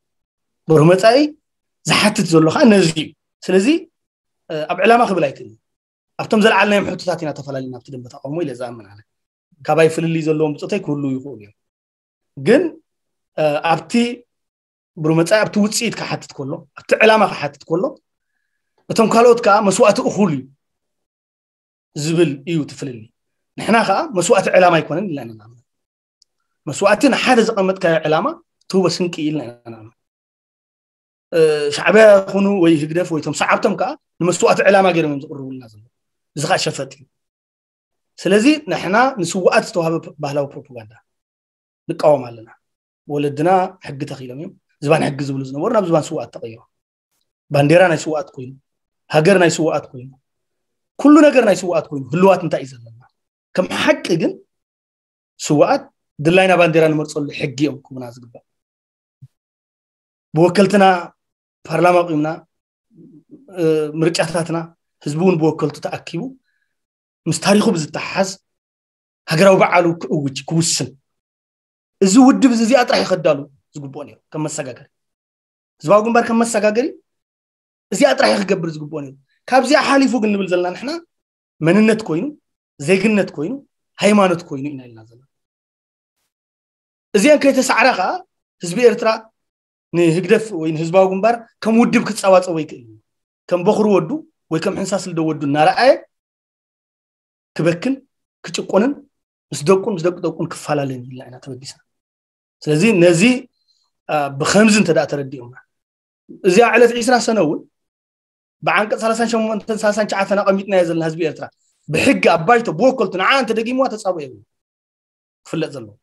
ብሩህ መጻኢ ዝሓትት ዘሎ ከዓ ነዚ እዩ። ስለዚ ኣብ ዕላማ ክብል ኣይክእልን። ኣብቶም ዘልዓልናዮም ሕቶታት ኢና ተፈላለና ኣብቲ ደንበ ተቃውሞ ኢለ ዝኣምን ኣነ። ካባይ ፍልልይ ዘለዎም ብፆተይ ክህልዉ ይኽእሉ እዮም። ግን ኣብቲ ብሩህ መጻኢ ኣብቲ ውፅኢት ክሓትት ከሎ፣ ኣብቲ ዕላማ ክሓትት ከሎ፣ እቶም ካልኦት ከዓ መስዋእቲ እኹል እዩ ዝብል እዩ እቲ ፍልልይ። ንሕና ከዓ መስዋእቲ ዕላማ ኣይኮነን ኢልና ኢና ንኣምን። መስዋእቲ ንሓደ ዘቐመጥካዮ ዕላማ ትህቦ ስንቂ ኢልና ኢና ንኣምን። ሻዕብያ ይኹኑ ወይ ህግደፍ ወይ እቶም ሰዓብቶም ከዓ ንመስዋእቲ ዕላማ ገይሮም እዮም ዝቕርቡልና ዘለዉ። እዚ ከዓ ሸፈጥ እዩ። ስለዚ ንሕና ንስውኣት ዝተዋህበ ባህላዊ ፕሮፓጋንዳ ንቃወም ኣለና። ወለድና ሕጊ ተኺሎም እዮም። ዝባን ሕጊ ዝብሉ ዝነበሩ ናብ ዝባን ስውኣት ተቐይሮም። ባንዴራ ናይ ስውኣት ኮይኑ፣ ሃገር ናይ ስውኣት ኮይኑ፣ ኩሉ ነገር ናይ ስውኣት ኮይኑ፣ ህልዋት እንታይ እዩ ዘለና? ከም ሓቂ ግን ስውኣት ድላይና ባንዴራ ንመርፀሉ ሕጊ እዮም ክቡና ዝግባእ። ብወከልትና ፓርላማ ቁምና፣ ምርጫታትና ህዝቢ እውን ብወከልቱ ተኣኪቡ ምስ ታሪኹ ብዝተሓዝ ሃገራዊ በዓሉ ክእውጅ ክውስን፣ እዚ ውድብ እዚ እዚኣ ጥራሕ ይኸዳሉ ዝግብኦ ነይሩ ከም መሰጋገሪ፣ ህዝባዊ ግንባር ከም መሰጋገሪ እዚኣ ጥራሕ ክገብር ዝግብኦ ነይሩ። ካብዚኣ ሓሊፉ ግን ንብል ዘለና ንሕና መንነት ኮይኑ፣ ዜግነት ኮይኑ፣ ሃይማኖት ኮይኑ ኢና ኢልና ዘለና። እዚአን ከይተሳዕራ ከዓ ህዝቢ ኤርትራ ንህግደፍ ወይ ንህዝባዊ ግንባር ከም ውድብ ክፃባፀቦ ይክእል እዩ። ከም በኹሪ ወዱ ወይ ከም ሕንሳስ ልደ ወዱ እናረኣየ ክበክን ክጭቆንን ምስ ደቁን ምስ ደቂ ደቁን ክፈላለን ኢልና ኢና ተበጊስና። ስለዚ ነዚ ብከምዚ እንተ ተረዲኦምና እዚኣ ዕለት ዒስራ ሰነ እውን ብዓንቀፅ ሰላሳን ሸሞንተን ሰላሳን ትሽዓተን ኣቐሚጥናዮ ዘለና ህዝቢ ኤርትራ ብሕጊ ኣብ ባይቶ ብወከልቱ ንዓ እንተደጊምዋ ተፃብኦ የብሉ ክፍለጥ ዘለዎ።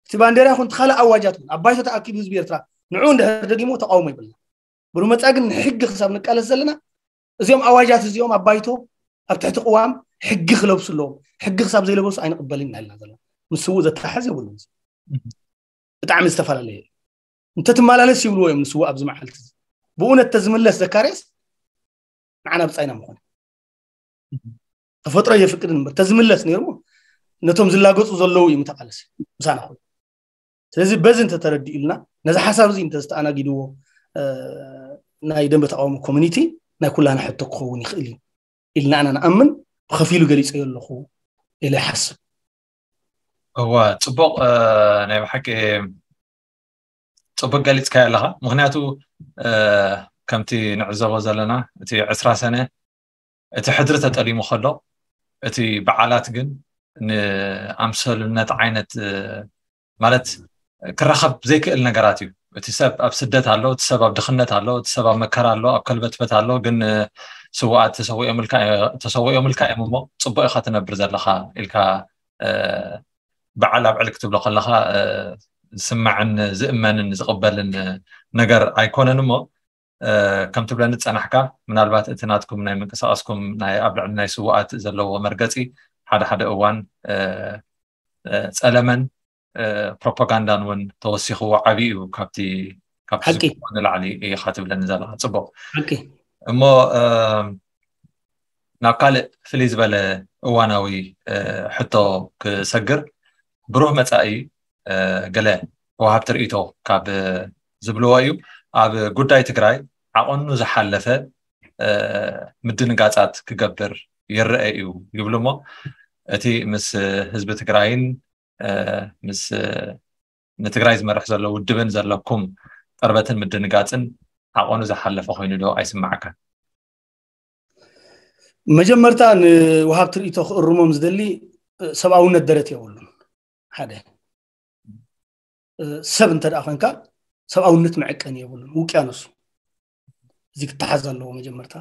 እቲ ባንዴራ ይኹን እቲ ካልእ ኣዋጃት እውን ኣብ ባይቶ ተኣኪቡ ህዝቢ ኤርትራ ንዑ እንድሕር ደጊሞ ተቃውሞ ይብልና። ብሩመፃ ግን ንሕጊ ክሳብ ንቃለስ ዘለና እዚኦም ኣዋጃት እዚኦም ኣብ ባይቶ ኣብ ትሕቲ ቅዋም ሕጊ ክለብሱ ኣለዎም። ሕጊ ክሳብ ዘይለበሱ ኣይንቕበልን ኢና ኢልና ዘለና። ምስ ስውእ ዘተሓዝ የብሉን። ብጣዕሚ ዝተፈላለየ እዩ። እንተትመላለስ ይብልዎ እዮም ንስውእ ኣብዚ መዓልቲ እዚ። ብእውነት ተዝምለስ ዘካርያስ ንዓና ብጻይና ምኾነ። ተፈጥሮ የፍቅድን እምበር ተዝምለስ ነይሩ ነቶም ዝላገጹ ዘለዉ እዩ ምተቃለስ ምሳና ኮይኑ። ስለዚ በዚ እንተተረዲኡልና ነዚ ሓሳብ እዚ እንተዝተኣናጊድዎ ናይ ደንበ ተቃውሞ ኮሚኒቲ ናይ ኩላና ሕቶ ክኸውን ይኽእል እዩ ኢልና ኣና ንኣምን። ብኸፊሉ ገሊጸዮ ኣለኹ ኢለ ይሓስብ። እወ፣ ጽቡቕ፣ ናይ ብሓቂ ጽቡቕ ገሊጽካዮ ኣለኻ። ምኽንያቱ ከምቲ ንዕዘቦ ዘለና እቲ ዕስራ ሰነ እቲ ሕድሪ ተጠሊሙ ከሎ እቲ በዓላት ግን ንኣምሰሉነት ዓይነት ማለት ክራኸብ ዘይክእል ነገራት እዩ። እቲ ሰብ ኣብ ስደት ኣሎ፣ እቲ ሰብ ኣብ ድኽነት ኣሎ፣ እቲ ሰብ ኣብ መከራ ኣሎ፣ ኣብ ከልበትበት ኣሎ። ግን ስውኣት ተሰዊኦምልካ እዮም እሞ ጽቡቕ ኢኻ ትነብር ዘለኻ ኢልካ በዓል ኣብዕል ክትብሎ ከለኻ ዝስማዕን ዝእመንን ዝቕበልን ነገር ኣይኮነን እሞ ከም ትብለኒ ዝጸናሕካ ምናልባት እቲ ናትኩም ናይ ምንቅስቃስኩም ናይ ኣብ ልዕሊ ናይ ስውኣት ዘለዎ መርገጺ ሓደ ሓደ እዋን ጸለመን ፕሮፓጋንዳን እውን ተወሲኽዎ ዓብዩ እዩ ካብቲ ካብቲ ንላዕሊ ኢኻ ትብለኒ ዘለኻ። ጽቡቕ እሞ ናብ ካልእ ፍልይ ዝበለ እዋናዊ ሕቶ ክሰግር፣ ብሩህ መጻኢ ገለ ወሃብቲ ርእይቶ ካብ ዝብልዎ እዩ። ኣብ ጉዳይ ትግራይ ዓቐኑ ዝሓለፈ ምድንጋጻት ክገብር ይረአ እዩ ይብሉ እሞ እቲ ምስ ህዝቢ ትግራይን ምስ ንትግራይ ዝመርሕ ዘሎ ውድብን ዘለኩም ቅርበትን ምድንጋጽን ዓቐኑ ዝሓለፈ ኮይኑ ዶ ኣይስማዓካን? መጀመርታ ንወሃብቲ ርእይቶ ክእርሞም ዝደሊ፣ ሰብኣውነት ደረት የብሉን። ሓደ ሰብ እንተ ደኣ ኮንካ፣ ሰብኣውነት መዐቀኒ የብሉን። ውቅያኖስ እዩ። እዚ ክተሓዝ ኣለዎ። መጀመርታ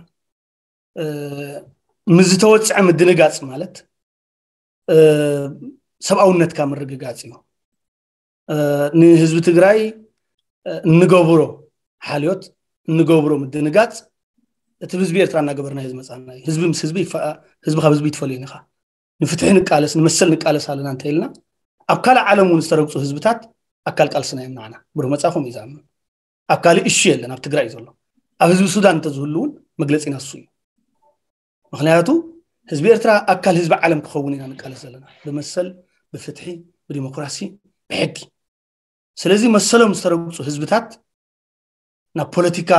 ምስ ዝተወፅዐ ምድንጋፅ ማለት ሰብኣውነትካ ምርግጋፅ እዩ። ንህዝቢ ትግራይ እንገብሮ ሓልዮት፣ እንገብሮ ምድንጋፅ፣ እቲ ህዝቢ ኤርትራ እናገበርናዮ ዝመፃና እዩ። ህዝቢ ምስ ህዝቢ ይፈ- ህዝቢ ካብ ህዝቢ ይትፈልዮ ኢኻ። ንፍትሒ ንቃለስ፣ ንመሰል ንቃለስ ኣለና እንተ ኢልና፣ ኣብ ካልእ ዓለም እውን ዝተረግፁ ህዝብታት ኣካል ቃልስና እዮም ንዓና። ብሩህ መፃኹም እዩ ዝኣምን። ኣብ ካልእ እሹ የለን፣ ኣብ ትግራይ እዩ ዘሎ። ኣብ ህዝቢ ሱዳን እንተዝህሉ እውን መግለፂና እሱ እዩ። ምክንያቱ ህዝቢ ኤርትራ ኣካል ህዝቢ ዓለም ክኸውን ኢና ንቃለስ ዘለና፣ ብመሰል፣ ብፍትሒ፣ ብዲሞክራሲ፣ ብሕጊ። ስለዚ መሰሎም ዝተረግፁ ህዝብታት ናብ ፖለቲካ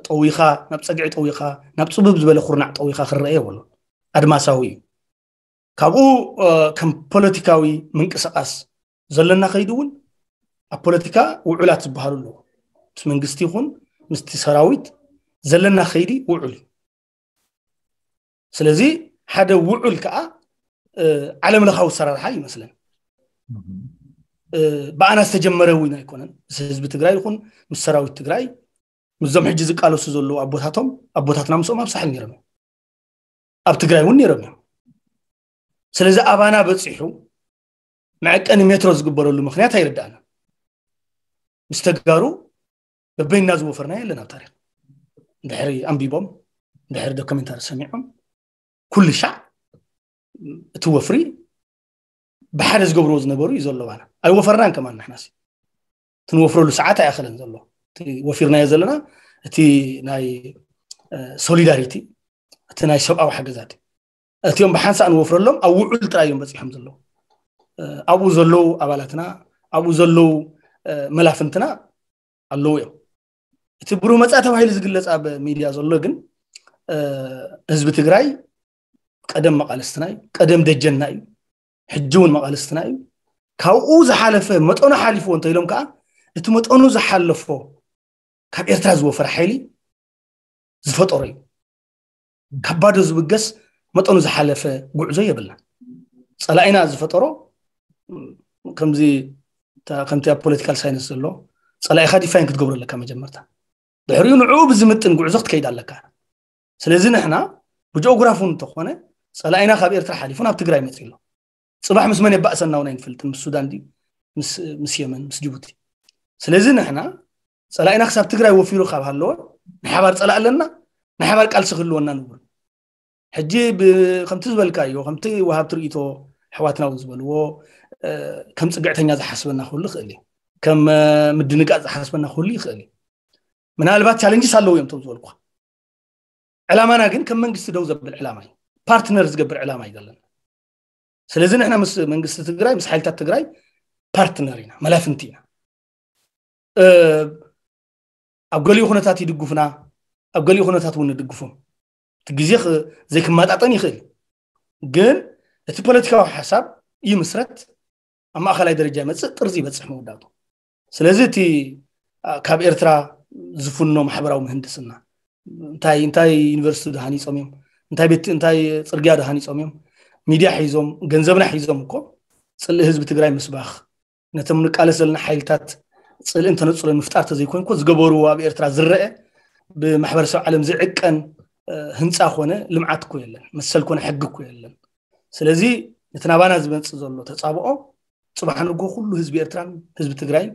ጠዊኻ፣ ናብ ፀግዒ ጠዊኻ፣ ናብ ፅብብ ዝበለ ኩርናዕ ጠዊኻ ክረአ የብሉን። ኣድማሳዊ እዩ። ካብኡ ከም ፖለቲካዊ ምንቅስቃስ ዘለና ከይዱ እውን ኣብ ፖለቲካ ውዑላት ዝበሃሉ ኣለዉ። ምስ መንግስቲ ይኹን ምስቲ ሰራዊት ዘለና ከይዲ ውዑል እዩ። ስለዚ ሓደ ውዑል ከዓ ዓለም ለኻዊ ኣሰራርሓ ይመስለን። ብኣና ዝተጀመረ እውን ኣይኮነን። ምስ ህዝቢ ትግራይ ይኹን ምስ ሰራዊት ትግራይ፣ ምስዞም ሕጂ ዝቃለሱ ዘለዉ ኣቦታቶም ኣቦታትና ምስኦም ኣብ ሳሕል ነይሮም እዮም፣ ኣብ ትግራይ እውን ነይሮም እዮም። ስለዚ ኣባና በፂሑ መዐቀኒ ሜትሮ ዝግበረሉ ምክንያት ኣይርዳእና። ምስ ተጋሩ በበይና ዝወፈርና የለን ኣብ ታሪክ። እንድሕሪ ኣንቢቦም፣ እንድሕሪ ዶክመንታሪ ሰሚዖም፣ ኩሉ ሻዕ እቲ ወፍሪ ብሓደ ዝገብርዎ ዝነበሩ እዩ ዘሎ። ባና ኣይወፈርናን ከማን ንሕናሲ። እቲ ንወፍረሉ ሰዓት ኣይኣኸለን ዘሎ። እቲ ወፊርናዮ ዘለና እቲ ናይ ሶሊዳሪቲ፣ እቲ ናይ ሰብኣዊ ሓገዛት እዩ። እቲኦም ብሓንሳእ ንወፍረሎም ኣብ ውዑል ጥራይ እዮም በፂሖም ዘለዉ። ኣብኡ ዘለዉ ኣባላትና፣ ኣብኡ ዘለዉ መላፍንትና ኣለዉ እዮም። እቲ ብሩህ መፃ ተባሂሉ ዝግለፅ ኣብ ሚድያ ዘሎ ግን ህዝቢ ትግራይ ቀደም መቃለስትና እዩ፣ ቀደም ደጀንና እዩ፣ ሕጂ እውን መቃለስትና እዩ። ካብኡ ዝሓለፈ መጠኑ ሓሊፍዎ እንተ ኢሎም ከዓ እቲ መጠኑ ዝሓለፎ ካብ ኤርትራ ዝወፈረ ሓይሊ ዝፈጠሮ እዩ። ካብ ባዶ ዝብገስ መጠኑ ዝሓለፈ ጉዕዞ የብልና። ፀላኢና ዝፈጠሮ ከምዚ ከምቲ ኣብ ፖለቲካል ሳይንስ ዘሎ ፀላኢኻ ዲፋይን ክትገብሮ ኣለካ መጀመርታ። ድሕሪኡ ንዕኡ ብዝምጥን ጉዕዞ ክትከይድ ኣለካ። ስለዚ ንሕና ብጂኦግራፊ እውን እንተኾነ ፀላኢና ካብ ኤርትራ ሓሊፉ ናብ ትግራይ መፂኡ ኣሎ። ፅባሕ ምስ መን የባእሰና እውን ኣይንፈልጥን። ምስ ሱዳን ድዩ ምስ የመን ምስ ጅቡቲ። ስለዚ ንሕና ፀላኢና ክሳብ ትግራይ ወፊሩ ካብ ሃለወ ንሓባር ፀላእ ኣለና፣ ንሓባር ቃልሲ ክህልወና ንብሉ። ሕጂ ከምቲ ዝበልካዮ ከምቲ ወሃብቲ ርእይቶ ኣሕዋትና እውን ዝበልዎ ከም ፅግዕተኛ ዝሓስበና ክህሉ ይኽእል እዩ። ከም ምድንጋፅ ዝሓስበና ክህሉ ይኽእል እዩ። ምናልባት ቻለንጅስ ኣለዉ እዮም እቶም ዝበልኩ። ዕላማና ግን ከም መንግስቲ ደው ዘብል ዕላማ እዩ፣ ፓርትነር ዝገብር ዕላማ እዩ ዘለና። ስለዚ ንሕና ምስ መንግስቲ ትግራይ ምስ ሓይልታት ትግራይ ፓርትነር ኢና፣ መላፍንቲ ኢና። ኣብ ገሊኡ ኩነታት ይድግፉና፣ ኣብ ገሊኡ ኩነታት እውን ንድግፎም። እቲ ግዜ ዘይክመጣጠን ይኽእል፣ ግን እቲ ፖለቲካዊ ሓሳብ ይምስረት፣ ኣብ ማእኸላይ ደረጃ ይመፅእ፣ ጥርዚ ይበፅሕ መወዳእቱ። ስለዚ እቲ ካብ ኤርትራ ዝፍኖ ማሕበራዊ ምህንድስና እንታይ እንታይ ዩኒቨርሲቲ ድሃኒፆም እዮም፣ እንታይ ቤት እንታይ ፅርግያ ድሃኒፆም እዮም፣ ሚድያ ሒዞም ገንዘብና ሒዞም እኮ ፅልኢ ህዝቢ ትግራይ ምስባኽ፣ ነቶም ንቃለስ ዘለና ሓይልታት ፅልእን ተነፅሎን ምፍጣር ተዘይኮይንኮ ዝገበርዎ ኣብ ኤርትራ ዝረአ ብማሕበረሰብ ዓለም ዝዕቀን ህንፃ ኮነ ልምዓት እኮ የለን፣ መሰል ኮነ ሕጊ እኮ የለን። ስለዚ ነቲ ናባና ዝመፅእ ዘሎ ተፃብኦ ፅባሕ ንጎ ኩሉ ህዝቢ ኤርትራን ህዝቢ ትግራይን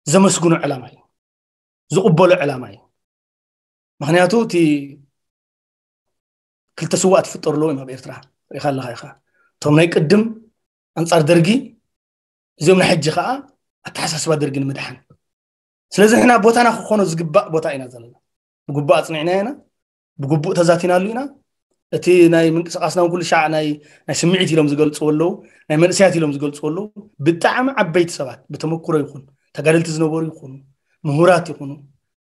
ዘመስግኖ ዕላማ እዩ፣ ዝቕበሎ ዕላማ እዩ። ምክንያቱ እቲ ክልተ ስዋእ ትፍጠሩ ኣለዉ እዮም ኣብ ኤርትራ። ሪኢኻ ኣለኻ ኢኻ እቶም ናይ ቅድም ኣንፃር ደርጊ፣ እዚኦም ናይ ሕጂ ከዓ ኣተሓሳስባ ደርጊ ንምድሓን። ስለዚ ንሕና ቦታና ክኾኖ ዝግባእ ቦታ ኢና ዘለና። ብግቡእ ኣፅኒዕና ኢና፣ ብግቡእ ተዛቲናሉ ኢና። እቲ ናይ ምንቅስቃስና እውን ኩሉ ሻዕ ናይ ናይ ስምዒት ኢሎም ዝገልፅዎ ኣለዉ፣ ናይ መንእሰያት ኢሎም ዝገልፅዎ ኣለዉ። ብጣዕሚ ዓበይቲ ሰባት ብተመክሮ ይኹን ተጋደልቲ ዝነበሩ ይኹኑ ምሁራት ይኹኑ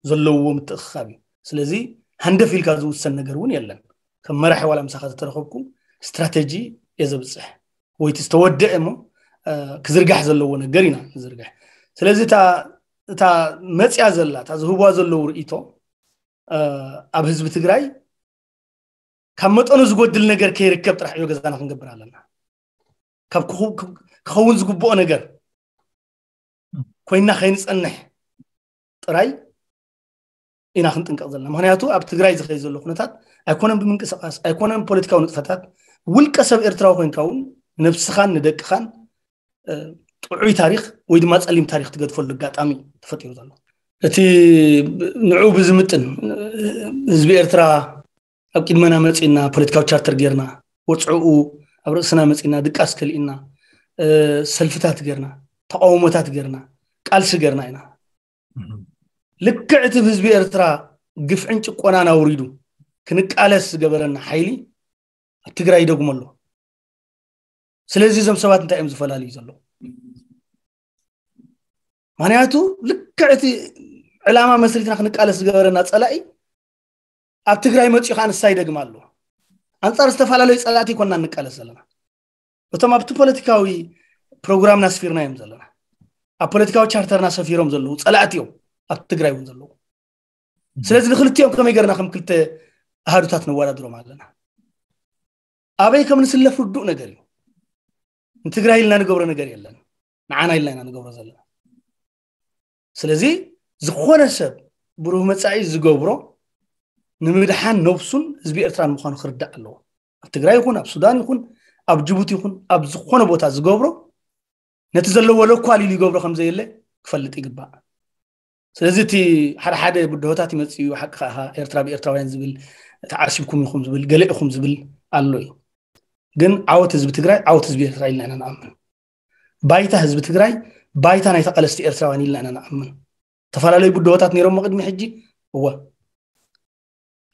ዘለውዎ ምትእኽኻብ እዩ። ስለዚ ሃንደፍ ኢልካ ዝውሰን ነገር እውን የለን። ከም መራሒ ዋላ ምሳኻ ዝተረኸብኩ ስትራተጂ እየ ዘብፅሕ ወይ እቲ ዝተወደአ እሞ ክዝርጋሕ ዘለዎ ነገር ኢና ንዝርግሕ። ስለዚ እታ እታ መፅያ ዘላ እታ ዝህብዋ ዘለዉ ርእይቶ ኣብ ህዝቢ ትግራይ ካብ መጠኑ ዝጎድል ነገር ከይርከብ ጥራሕ ዕዮ ገዛና ክንገብር ኣለና። ካብ ክኸውን ዝግብኦ ነገር ኮይና ከይንጸንሕ ጥራይ ኢና ክንጥንቀቕ ዘለና። ምክንያቱ ኣብ ትግራይ ዝኸይ ዘሎ ኩነታት ኣይኮነን ብምንቅስቃስ ኣይኮነን ፖለቲካዊ ንጥፈታት ውልቀ ሰብ ኤርትራዊ ኮይንካ እውን ነብስኻን ንደቅኻን ጥዑይ ታሪክ ወይ ድማ ጸሊም ታሪክ ትገድፈሉ ኣጋጣሚ ተፈጢሩ ዘሎ። እቲ ንዑ ብዝምጥን ህዝቢ ኤርትራ ኣብ ቅድመና መጺና ፖለቲካዊ ቻርተር ጌርና ወጽዕኡ ኣብ ርእስና መጺና ድቃስ ከሊእና ሰልፍታት ጌርና ተቃውሞታት ጌርና ቃልሲ ጌርና ኢና። ልክዕ እቲ ህዝቢ ኤርትራ ግፍዕን ጭቆናን ኣውሪዱ ክንቃለስ ዝገበረና ሓይሊ ኣብ ትግራይ ይደግሞ ኣሎ። ስለዚ እዞም ሰባት እንታይ እዮም ዝፈላልዩ ዘለዉ? ምክንያቱ ልክዕ እቲ ዕላማ መስሪትና ክንቃለስ ዝገበረና ጸላኢ ኣብ ትግራይ መፂኡ ከዓ ንሳ ይደግማ ኣሎ። ኣንፃር ዝተፈላለዩ ፀላእቲ ይኮንና ንቃለስ ዘለና። እቶም ኣብቲ ፖለቲካዊ ፕሮግራምና ኣስፊርና እዮም ዘለና፣ ኣብ ፖለቲካዊ ቻርተርና ሰፊሮም ዘለዉ ፀላእቲ እዮም ኣብ ትግራይ እውን ዘለዉ። ስለዚ ንክልቲኦም ከመይ ገርና ከም ክልተ ኣሃዱታት ነወዳድሮም ኣለና? ኣበይ ከም ንስለፍ ርዱእ ነገር እዩ። ንትግራይ ኢልና ንገብሮ ነገር የለን፣ ንዓና ኢልና ኢና ንገብሮ ዘለና። ስለዚ ዝኾነ ሰብ ብሩህ መጻኢ ዝገብሮ ንምድሓን ነብሱን ህዝቢ ኤርትራን ምዃኑ ክርዳእ ኣለዎ። ኣብ ትግራይ ይኹን ኣብ ሱዳን ይኹን ኣብ ጅቡቲ ይኹን ኣብ ዝኾነ ቦታ ዝገብሮ ነቲ ዘለዎ ለኳል ኢሉ ይገብሮ ከም ዘየለ ክፈልጥ ይግባእ። ስለዚ እቲ ሓደ ሓደ ብድሆታት ይመጽእ እዩ። ሓቂ ከዓ ኤርትራ ብኤርትራውያን ዝብል ተዓሲብኩም ኢኹም ዝብል ገለ ኢኹም ዝብል ኣሎ እዩ። ግን ዓወት ህዝቢ ትግራይ ዓወት ህዝቢ ኤርትራ ኢልና ኢና ንኣምን። ባይታ ህዝቢ ትግራይ ባይታ ናይ ተቓለስቲ ኤርትራውያን ኢልና ኢና ንኣምን። ዝተፈላለዩ ብድሆታት ነይሮሞ ቅድሚ ሕጂ እወ፣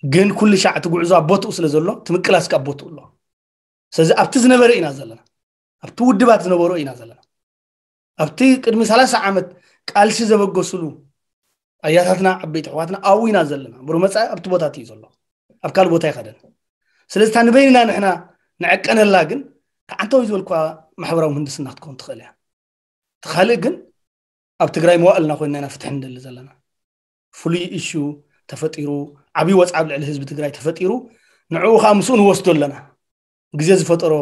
ግን ኩሉ ሻዕ እቲ ጉዕዞ ኣብ ቦትኡ ስለ ዘሎ እቲ ምቅላስ ካብ ቦትኡ ኣሎ። ስለዚ ኣብቲ ዝነበረ ኢና ዘለና፣ ኣብቲ ውድባት ዝነበሮ ኢና ዘለና። ኣብቲ ቅድሚ ሰላሳ ዓመት ቃልሲ ዘበገሱሉ ኣያታትና ዓበይቲ ኣሕዋትና ኣብኡ ኢና ዘለና። ብሩህ መጻኢ ኣብቲ ቦታ እዩ ዘሎ፣ ኣብ ካልእ ቦታ ኣይኸደን። ስለዚ እታ ንበይንና ንሕና ንዕቀነላ ግን ከዓንተወይ ዝበልኳ ማሕበራዊ ምህንድስና ክትከውን ትኽእል እያ። እቲ ካልእ ግን ኣብ ትግራይ መዋእልና ኮይንና ኢና ፍትሒ ንደሊ ዘለና። ፍሉይ ኢሹ ተፈጢሩ፣ ዓብዪ ወፅዓ ኣብ ልዕሊ ህዝቢ ትግራይ ተፈጢሩ፣ ንዕኡ ከዓ ምስኡ ንወስዶ ኣለና። ግዜ ዝፈጠሮ